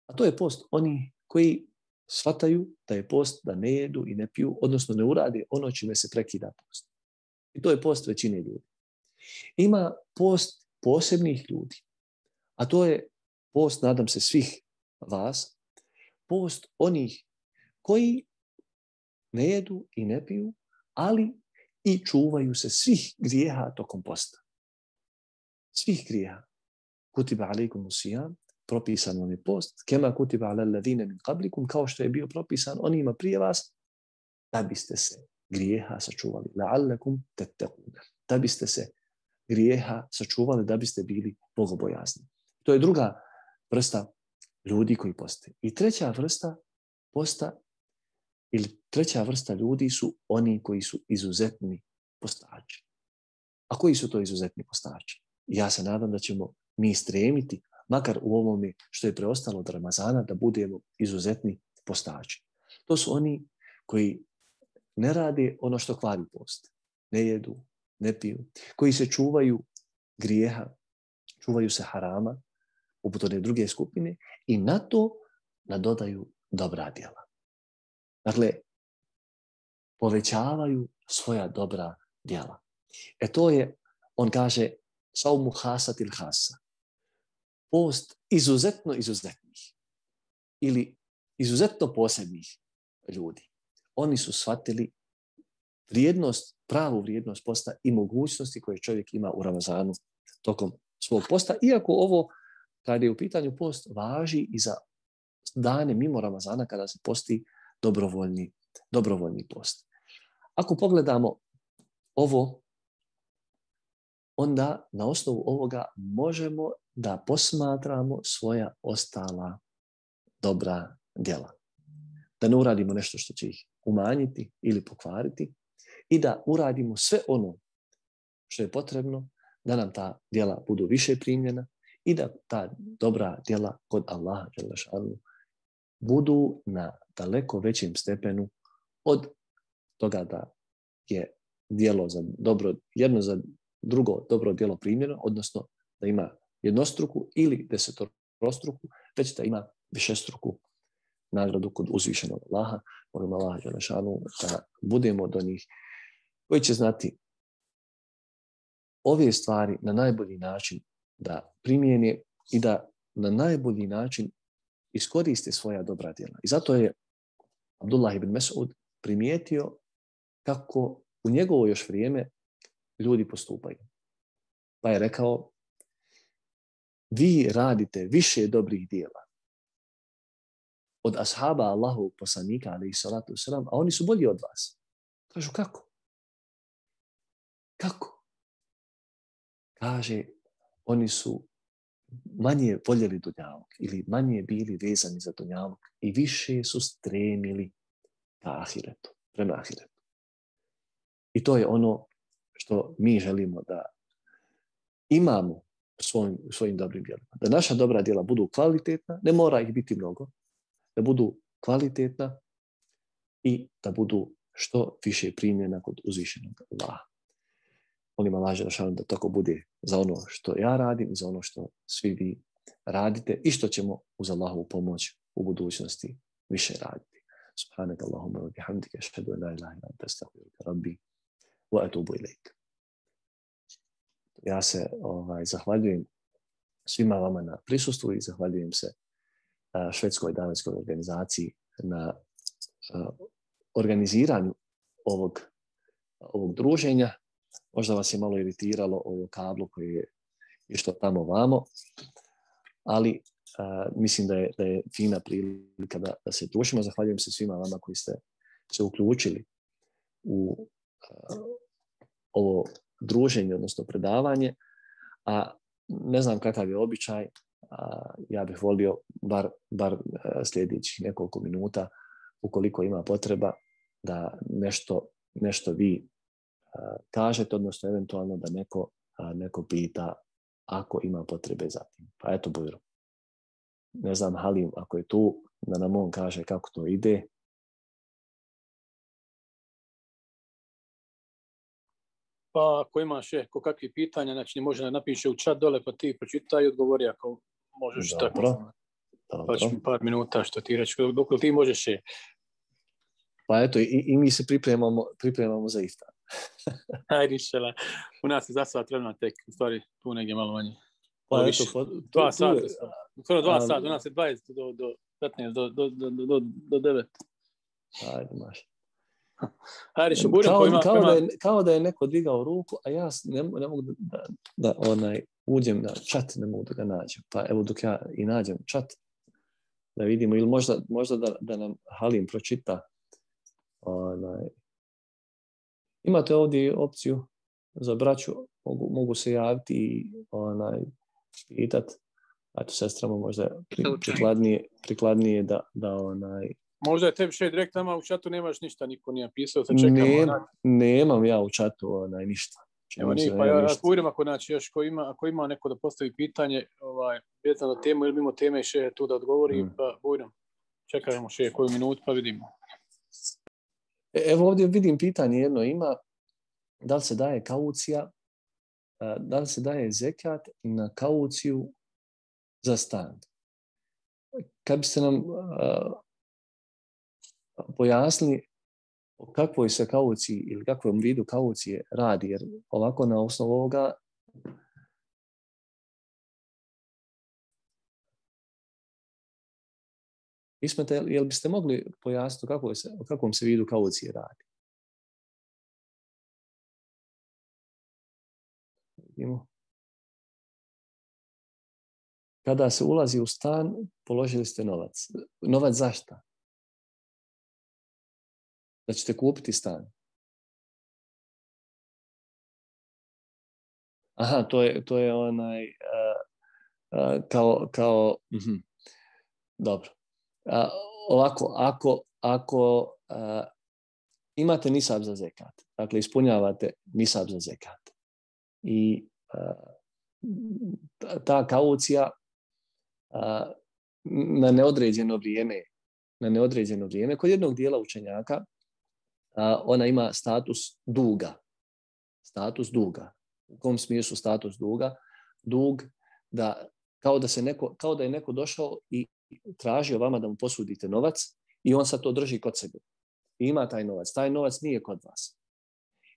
A to je post oni koji shvataju da je post da ne jedu i ne piju, odnosno ne urade ono čime se prekida post. I to je post većine ljudi. Ima post posebnih ljudi. A to je post, nadam se, svih vas, post onih koji ne jedu i ne piju, ali i čuvaju se svih grijeha tokom posta. Svih grijeha. Kutiba alejkum sijam, propisan vam je post, kema kutiba alel ladine min qablikum, kao što je bio propisan onima prije vas, da biste se grijeha sačuvali. La'allakum tattaqun. Da biste se grijeha sačuvali, da biste bili bogobojazni. To je druga vrsta ljudi koji poste. I treća vrsta posta ili treća vrsta ljudi su oni koji su izuzetni postači. A koji su to izuzetni postači? Ja se nadam da ćemo mi stremiti, makar u ovome što je preostalo od Ramazana, da budemo izuzetni postači. To su oni koji ne rade ono što kvari post. Ne jedu, ne piju. Koji se čuvaju grijeha, čuvaju se harama, poput one druge skupine, i na to nadodaju dobra djela. Dakle, povećavaju svoja dobra djela. E to je, on kaže, saumu hasat il hasa. Post izuzetno izuzetnih ili izuzetno posebnih ljudi. Oni su shvatili vrijednost, pravu vrijednost posta i mogućnosti koje čovjek ima u Ramazanu tokom svog posta, iako ovo, kada je u pitanju post, važi i za dane mimo Ramazana kada se posti dobrovoljni, dobrovoljni post. Ako pogledamo ovo, onda na osnovu ovoga možemo da posmatramo svoja ostala dobra djela. Da ne uradimo nešto što će ih umanjiti ili pokvariti i da uradimo sve ono što je potrebno da nam ta djela budu više primljena i da ta dobra djela kod Allaha dželle šanuhu budu na daleko većem stepenu od toga da je djelo za dobro, jedno za drugo dobro djelo primljeno, odnosno da ima jednostruku ili desetorostruku, već da ima višestruku nagradu kod uzvišenog Allaha. Molim Allaha dželle šanuhu da budemo od onih koji će znati ove stvari na najbolji način da primijene i da na najbolji način iskoriste svoja dobra djela. I zato je Abdullah ibn Mes'ud primijetio kako u njegovo još vrijeme ljudi postupaju. Pa je rekao, vi radite više dobrih djela od ashaba Allahovog poslanika, alejhi salatu vesselam, a oni su bolji od vas. Kažu, kako? Kako? Kaže, oni su manje voljeli dunjaluk ili manje bili vezani za dunjaluk i više su stremili ka ahiretu, prema ahiretu. I to je ono što mi želimo da imamo u svojim, u svojim dobrim djelima. Da naša dobra djela budu kvalitetna, ne mora ih biti mnogo, da budu kvalitetna i da budu što više primljena kod uzvišenog Allaha. Molim Allah dželle šanuhu da tako bude za ono što ja radim i za ono što svi vi radite i što ćemo uz Allahovu pomoć u budućnosti više raditi. Subhanaka Allahumma wa bihamdika ashhadu an la ilaha illa anta astaghfiruka rabbi wa atubu ilaik. Ja se ovaj, zahvaljujem svima vama na prisustvu i zahvaljujem se uh, švedskoj danskoj organizaciji na uh, organiziranju ovog, ovog druženja. Možda vas je malo iritiralo ovo kablo koje je išlo tamo vamo, ali uh, mislim da je, da je fina prilika da, da se družimo. Zahvaljujem se svima vama koji ste se uključili u uh, ovo druženje, odnosno predavanje, a ne znam kakav je običaj, a ja bih volio bar, bar sljedećih nekoliko minuta, ukoliko ima potreba, da nešto, nešto vi a, kažete, odnosno eventualno da neko, a, neko pita ako ima potrebe za tim. Pa eto, Bujro. Ne znam, Halim, ako je tu, da nam on kaže kako to ide. Pa ako imaš je ko kakvi pitanja, znači može da napiše u chat dole, pa ti pročitaj i odgovori ako možeš. Dobro, tako. Dobro. Pa ću mi par minuta što ti reći, dok ti možeš je. Pa eto, i, i mi se pripremamo, pripremamo za iftar. Ajde, išela. U nas je za sat vremena tek, u stvari tu negdje malo manje. Pa eto, pa, dva sata. Skoro dva sata, u nas je dvadeset do, do petnaest, do, do, do, do, do devet. Ajde, maš. Ajde, što budem kao, ima, kao, ima... da je, kao da je neko digao ruku, a ja ne, ne mogu da, da, da onaj, uđem na chat, ne mogu da ga nađem. Pa evo dok ja i nađem chat, da vidimo, ili možda, možda da, da nam Halim pročita. Onaj. Imate ovdje opciju za braću, mogu, mogu se javiti i onaj, pitati. Eto, sestrama možda prikladnije, prikladnije da, da onaj... Možda je tebi še direkt tamo u chatu nemaš ništa, niko nije pisao, se čekamo. Ne, nemam ja u chatu onaj, ništa. Evo nije, pa ja ako idem, ako, znači, još, ako, ima, ako ima neko da postavi pitanje, ovaj, vezano na temu ili mimo teme še tu da odgovori, mm. pa budem. Čekajmo še koju minutu pa vidimo. Evo ovdje vidim pitanje jedno ima, da li se daje kaucija, da li se daje zekat na kauciju za stan. Kad biste nam uh, pojasnili o kakvoj se kauciji ili kakvom vidu kaucije radi, jer ovako na osnovu ovoga Ismete, jel biste mogli pojasniti o, kako se, o kakvom se vidu kaucije radi? Vidimo. Kada se ulazi u stan, položili ste novac. Novac za šta? Da ćete kupiti stan. Aha, to je, to je onaj uh, uh, kao, kao uh-huh. Dobro. Uh, ovako, ako, ako uh, imate nisab za zekat, dakle ispunjavate nisab za zekat i uh, ta, ta kaucija uh, na neodređeno vrijeme, na neodređeno vrijeme, kod jednog dijela učenjaka uh, ona ima status duga. Status duga. U kom smislu status duga? Dug da kao da se neko, kao da je neko došao i tražio vama da mu posudite novac i on sad to drži kod sebe. I ima taj novac. Taj novac nije kod vas.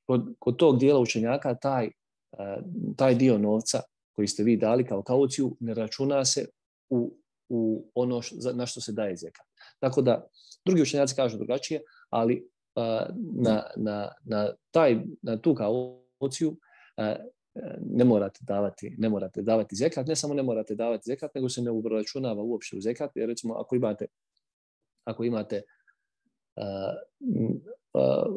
Kod, kod tog dijela učenjaka taj, uh, taj dio novca koji ste vi dali kao kauciju ne računa se u, u ono š, na što se daje zekat. Tako da drugi učenjaci kažu drugačije, ali uh, na, na, na, taj, na tu kauciju uh, ne morate davati, ne morate davati zekat, ne samo ne morate davati zekat, nego se ne uračunava uopšte u zekat, jer recimo ako imate ako imate uh, uh,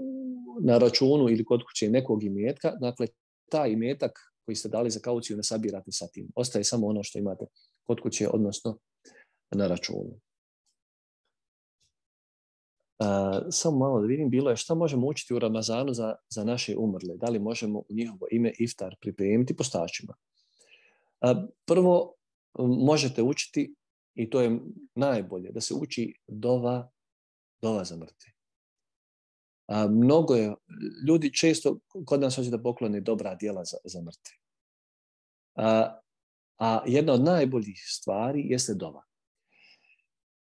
na računu ili kod kuće nekog imetka, dakle taj imetak koji ste dali za kauciju ne sabirate sa tim. Ostaje samo ono što imate kod kuće, odnosno na računu. Uh, samo malo da vidim, bilo je šta možemo učiti u Ramazanu za, za naše umrle. Da li možemo u njihovo ime iftar pripremiti postačima? Uh, prvo, možete učiti, i to je najbolje, da se uči dova, dova za mrtve. Uh, mnogo je, ljudi često kod nas hoće da poklone dobra djela za, za mrtve. Uh, a jedna od najboljih stvari jeste dova.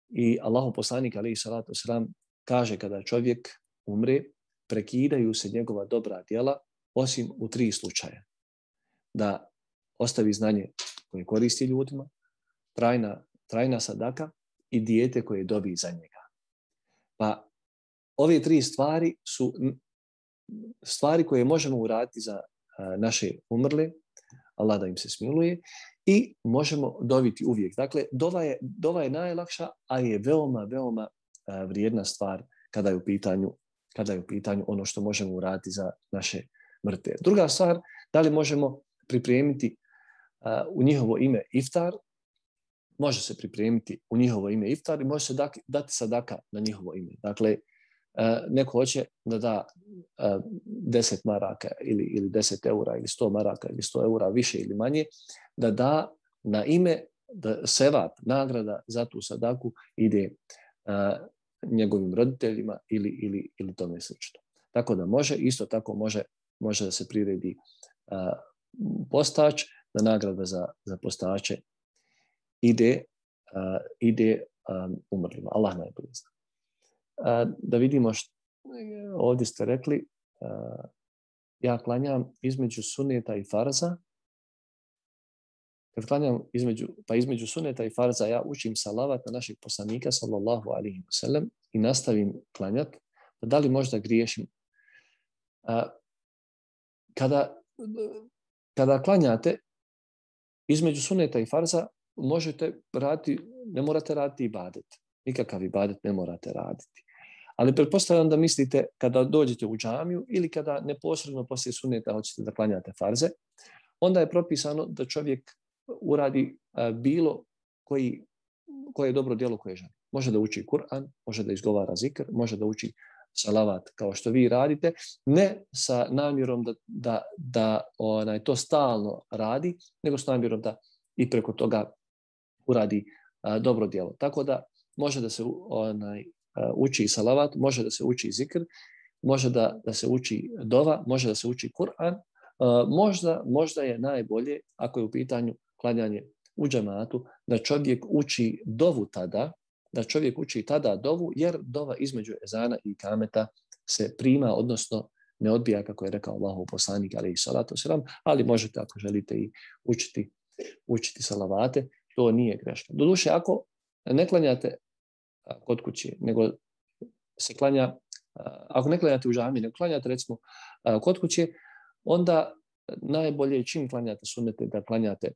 I Allahov poslanik alejhi salatu vesselam kaže kada čovjek umre, prekidaju se njegova dobra djela, osim u tri slučaja. Da ostavi znanje koje koristi ljudima, trajna, trajna sadaka i dijete koje dobi za njega. Pa ove tri stvari su stvari koje možemo uraditi za naše umrle, Allah da im se smiluje, i možemo doviti uvijek. Dakle, dova je, dova je najlakša, ali je veoma, veoma vrijedna stvar kada je u pitanju, kada je u pitanju ono što možemo uraditi za naše mrtve. Druga stvar, da li možemo pripremiti uh, u njihovo ime iftar? Može se pripremiti u njihovo ime iftar i može se dati, dati sadaka na njihovo ime. Dakle, uh, neko hoće da da uh, deset maraka ili, ili deset eura ili sto maraka ili sto eura više ili manje, da da na ime, da sevap, nagrada za tu sadaku ide uh, njegovim roditeljima ili, ili, ili tome slično. Tako da može, isto tako može, može da se priredi uh, postač, da nagrada za, za postače ide, uh, ide um, umrlima. Allah najbolje zna. Uh, da vidimo što ovdje ste rekli, uh, ja klanjam između suneta i farza. Kad klanjam između, pa između suneta i farza, ja učim salavat na našeg poslanika, sallallahu alaihi wa sallam, i nastavim klanjati. Da li možda griješim? A, kada, kada klanjate između suneta i farza, možete raditi, ne morate raditi ibadet. Nikakav ibadet ne morate raditi. Ali pretpostavljam da mislite kada dođete u džamiju ili kada neposredno poslije suneta hoćete da klanjate farze, onda je propisano da čovjek uradi a, bilo koji, koje je dobro djelo koje želi. Može da uči Kur'an, može da izgovara zikr, može da uči salavat kao što vi radite, ne sa namjerom da, da, da onaj, to stalno radi, nego s namjerom da i preko toga uradi a, dobro djelo. Tako da može da se onaj, a, uči salavat, može da se uči zikr, može da, da se uči dova, može da se uči Kur'an. A, možda, možda je najbolje, ako je u pitanju klanjanje u džematu, da čovjek uči dovu tada, da čovjek uči tada dovu, jer dova između ezana i kameta se prima, odnosno ne odbija, kako je rekao Allahov poslanik, alejhi salatu vesselam, ali možete, ako želite, i učiti, učiti salavate, to nije greška. Doduše, ako ne klanjate kod kuće, nego se klanja, ako ne klanjate u džamiji, nego klanjate, recimo, kod kuće, onda najbolje je čim klanjate sunnete da klanjate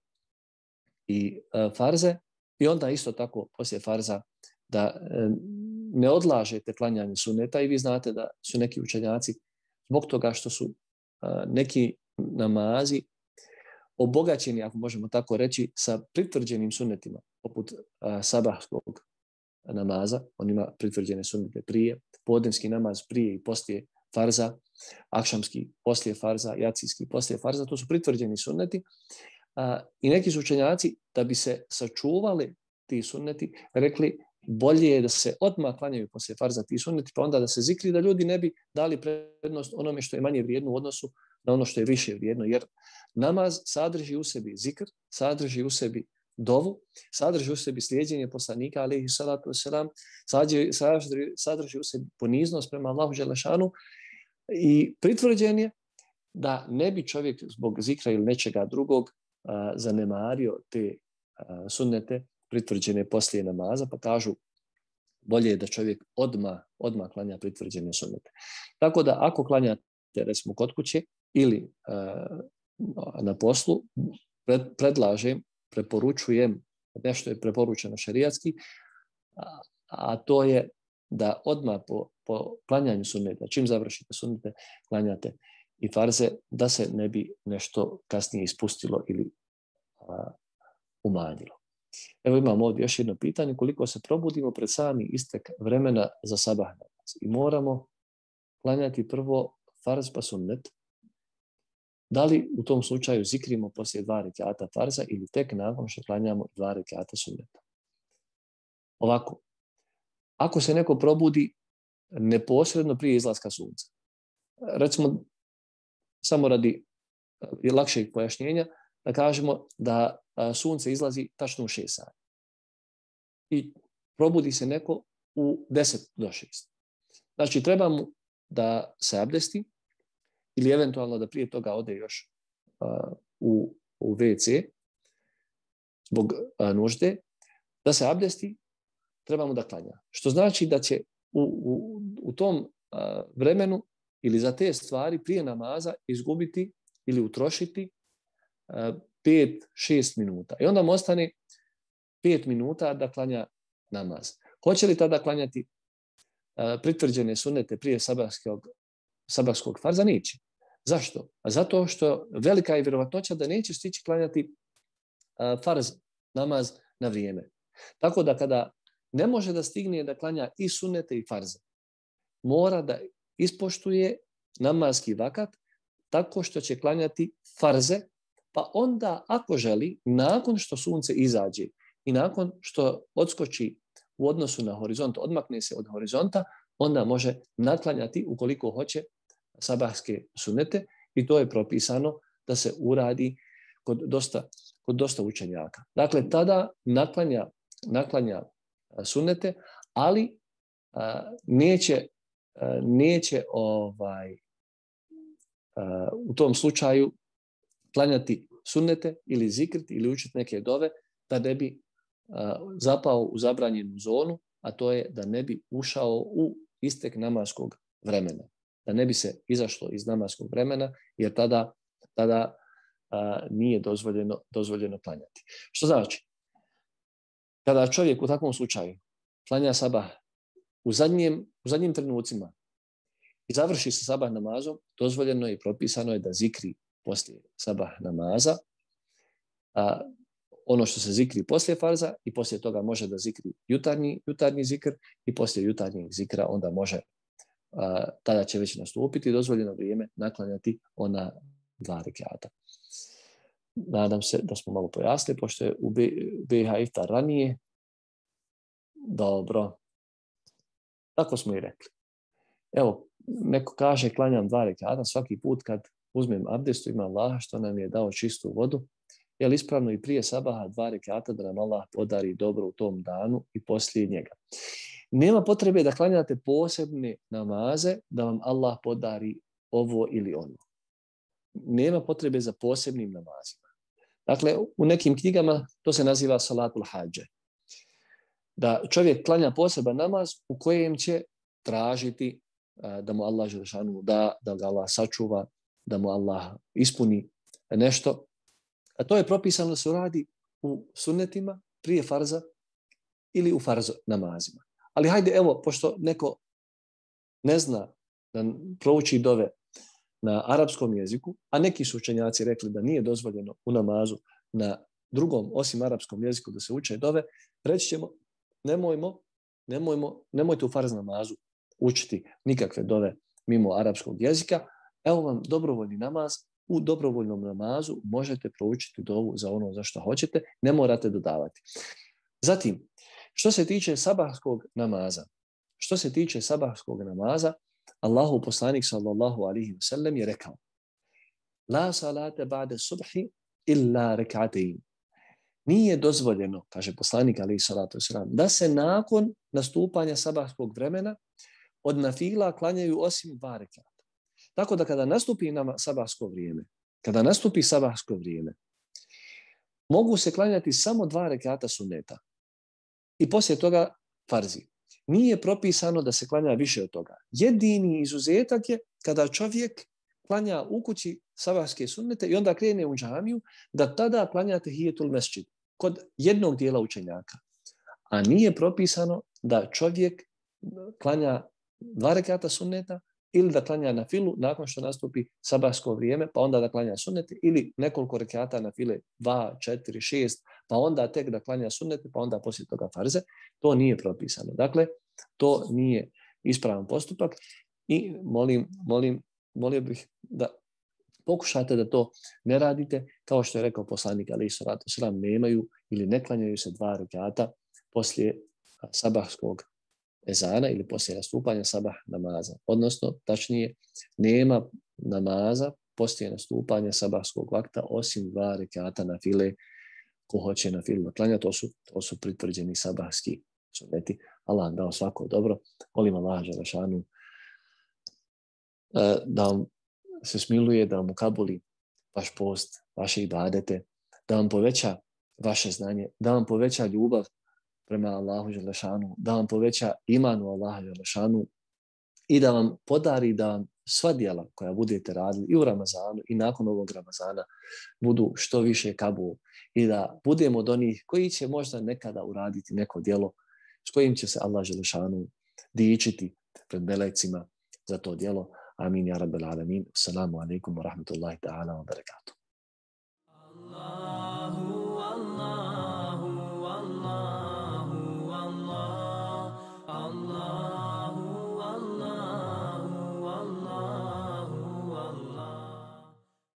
i farze, i onda isto tako poslije farza da ne odlažete klanjanje sunneta. I vi znate da su neki učenjaci zbog toga što su neki namazi obogaćeni, ako možemo tako reći, sa pritvrđenim sunnetima, poput sabahskog namaza, on ima pritvrđene sunnete prije, podnevski namaz prije i poslije farza, akšamski poslije farza, jacijski poslije farza, to su pritvrđeni sunneti. I neki su učenjaci, da bi se sačuvali ti sunneti, rekli bolje je da se odmah klanjaju poslije farza ti sunneti, pa onda da se zikri, da ljudi ne bi dali prednost onome što je manje vrijedno u odnosu na ono što je više vrijedno, jer namaz sadrži u sebi zikr, sadrži u sebi dovu, sadrži u sebi slijedjenje poslanika, alejhi salatu vesselam, sadrži, sadrži, sadrži u sebi poniznost prema Allahu dželešanu, i pritvrđen je da ne bi čovjek zbog zikra ili nečega drugog a, zanemario te a, sunnete pritvrđene poslije namaza, pa kažu bolje je da čovjek odmah, odmah klanja pritvrđene sunnete. Tako da ako klanjate, recimo, kod kuće ili a, na poslu, pred, predlažem, preporučujem, nešto je preporučeno šerijatski, a, a to je da odmah po, po klanjanju sunneta, čim završite sunnete, klanjate i farze, da se ne bi nešto kasnije ispustilo ili a, umanjilo. Evo imamo ovdje još jedno pitanje, koliko se probudimo pred sami istek vremena za sabah namaz i moramo klanjati prvo farz pa sunnet, da li u tom slučaju zikrimo poslije dva rekata farza ili tek nakon što klanjamo dva rekata sunneta? Ovako, ako se neko probudi neposredno prije izlaska sunca, recimo samo radi lakšeg pojašnjenja, da kažemo da sunce izlazi tačno u šest sati i probudi se neko u deset do šest. Znači, treba mu da se abdesti ili eventualno da prije toga ode još uh, u, u ve ce zbog uh, nužde, da se abdesti, treba mu da klanja. Što znači da će u, u, u tom uh, vremenu ili za te stvari prije namaza izgubiti ili utrošiti uh, pet do šest minuta. I onda mu ostane pet minuta da klanja namaz. Hoće li tada klanjati uh, pritvrđene sunnete prije sabahskog, sabahskog farza? Neće. Zašto? A zato što velika je vjerovatnoća da neće stići klanjati uh, farz namaz na vrijeme. Tako da kada ne može da stigne da klanja i sunnete i farze, mora da ispoštuje namazski vakat tako što će klanjati farze, pa onda ako želi, nakon što sunce izađe i nakon što odskoči u odnosu na horizont, odmakne se od horizonta, onda može naklanjati ukoliko hoće sabahske sunnete, i to je propisano da se uradi kod dosta, kod dosta učenjaka. Dakle, tada naklanja, naklanja sunnete, ali a, neće, a, neće ovaj, a, u tom slučaju klanjati sunnete ili zikriti ili učiti neke dove da ne bi a, zapao u zabranjenu zonu, a to je da ne bi ušao u istek namaskog vremena. Da ne bi se izašlo iz namaskog vremena, jer tada, tada a, nije dozvoljeno, dozvoljeno klanjati. Što znači? Kada čovjek u takvom slučaju klanja sabah u zadnjim, u zadnjim trenucima i završi sa sabah namazom, dozvoljeno je i propisano je da zikri poslije sabah namaza, a, ono što se zikri poslije farza, i poslije toga može da zikri jutarnji, jutarnji zikr, i poslije jutarnjeg zikra onda može, a, tada će već nastupiti dozvoljeno vrijeme naklanjati ona dva rekata. Nadam se da smo malo pojasnili, pošto je u be i ha iftar ranije. Dobro. Tako smo i rekli. Evo, neko kaže klanjam dva rekata svaki put kad uzmem abdestu, ima Allaha što nam je dao čistu vodu je li ispravno i prije sabaha dva rekata da nam Allah podari dobro u tom danu i poslije njega. Nema potrebe da klanjate posebne namaze da vam Allah podari ovo ili ono. Nema potrebe za posebnim namazima. Dakle, u nekim knjigama to se naziva salatul hadže. Da čovjek klanja poseban namaz u kojem će tražiti da mu Allah dželešanu da, da ga Allah sačuva, da mu Allah ispuni nešto. A to je propisano da se uradi u sunnetima prije farza ili u farz namazima. Ali hajde, evo, pošto neko ne zna da prouči dove na arapskom jeziku, a neki su učenjaci rekli da nije dozvoljeno u namazu na drugom osim arapskom jeziku da se uče dove, reći ćemo nemojmo, nemojmo, nemojte u farz namazu učiti nikakve dove mimo arapskog jezika. Evo vam dobrovoljni namaz. U dobrovoljnom namazu možete proučiti dovu za ono za što hoćete, ne morate dodavati. Zatim, što se tiče sabahskog namaza, što se tiče sabahskog namaza, Allahu poslanik sallallahu alejhi ve sellem je rekao: La salate ba'de subhi illa rek'atayn. Nije dozvoljeno, kaže poslanik alejhi salatu vesselam, da se nakon nastupanja sabahskog vremena od nafila klanjaju osim dva rekata. Tako da kada nastupi nama sabahsko vrijeme, kada nastupi sabahsko vrijeme, mogu se klanjati samo dva rekata sunneta i poslije toga farzi. Nije propisano da se klanja više od toga. Jedini izuzetak je kada čovjek klanja u kući sabahske sunnete i onda krene u džamiju, da tada klanja tehijetul mesdžid kod jednog dijela učenjaka. A nije propisano da čovjek klanja dva rekata sunneta ili da klanja na filu nakon što nastupi sabahsko vrijeme, pa onda da klanja sunnete, ili nekoliko rekata na file, dva, četiri, šest, pa onda tek da klanja sunnete, pa onda poslije toga farze. To nije propisano. Dakle, to nije ispravan postupak i molim, molim, molio bih da pokušate da to ne radite, kao što je rekao poslanik alejhi salatu vesselam, nemaju ili ne klanjaju se dva rekata poslije sabahskog ezana ili poslije nastupanja sabah namaza. Odnosno, tačnije, nema namaza poslije nastupanja sabahskog vakta osim dva rekata na file. Ko hoće na filu klanja, to su, to su pritvrđeni sabahski sunneti. Allah dao svako dobro. Molim Allah dželešanu da vam se smiluje, da vam ukabuli vaš post, vaše ibadete, da vam poveća vaše znanje, da vam poveća ljubav prema Allahu dželešanu, da vam poveća iman u Allaha dželešanu i da vam podari da vam sva djela koja budete radili i u Ramazanu i nakon ovog Ramazana budu što više kabul i da budemo od onih koji će možda nekada uraditi neko djelo s kojim će se Allah dželešanu dičiti pred melecima za to djelo. Amin ja rabbel alamin. Assalamu alaikum wa rahmatullahi ta'ala wa barakatuh.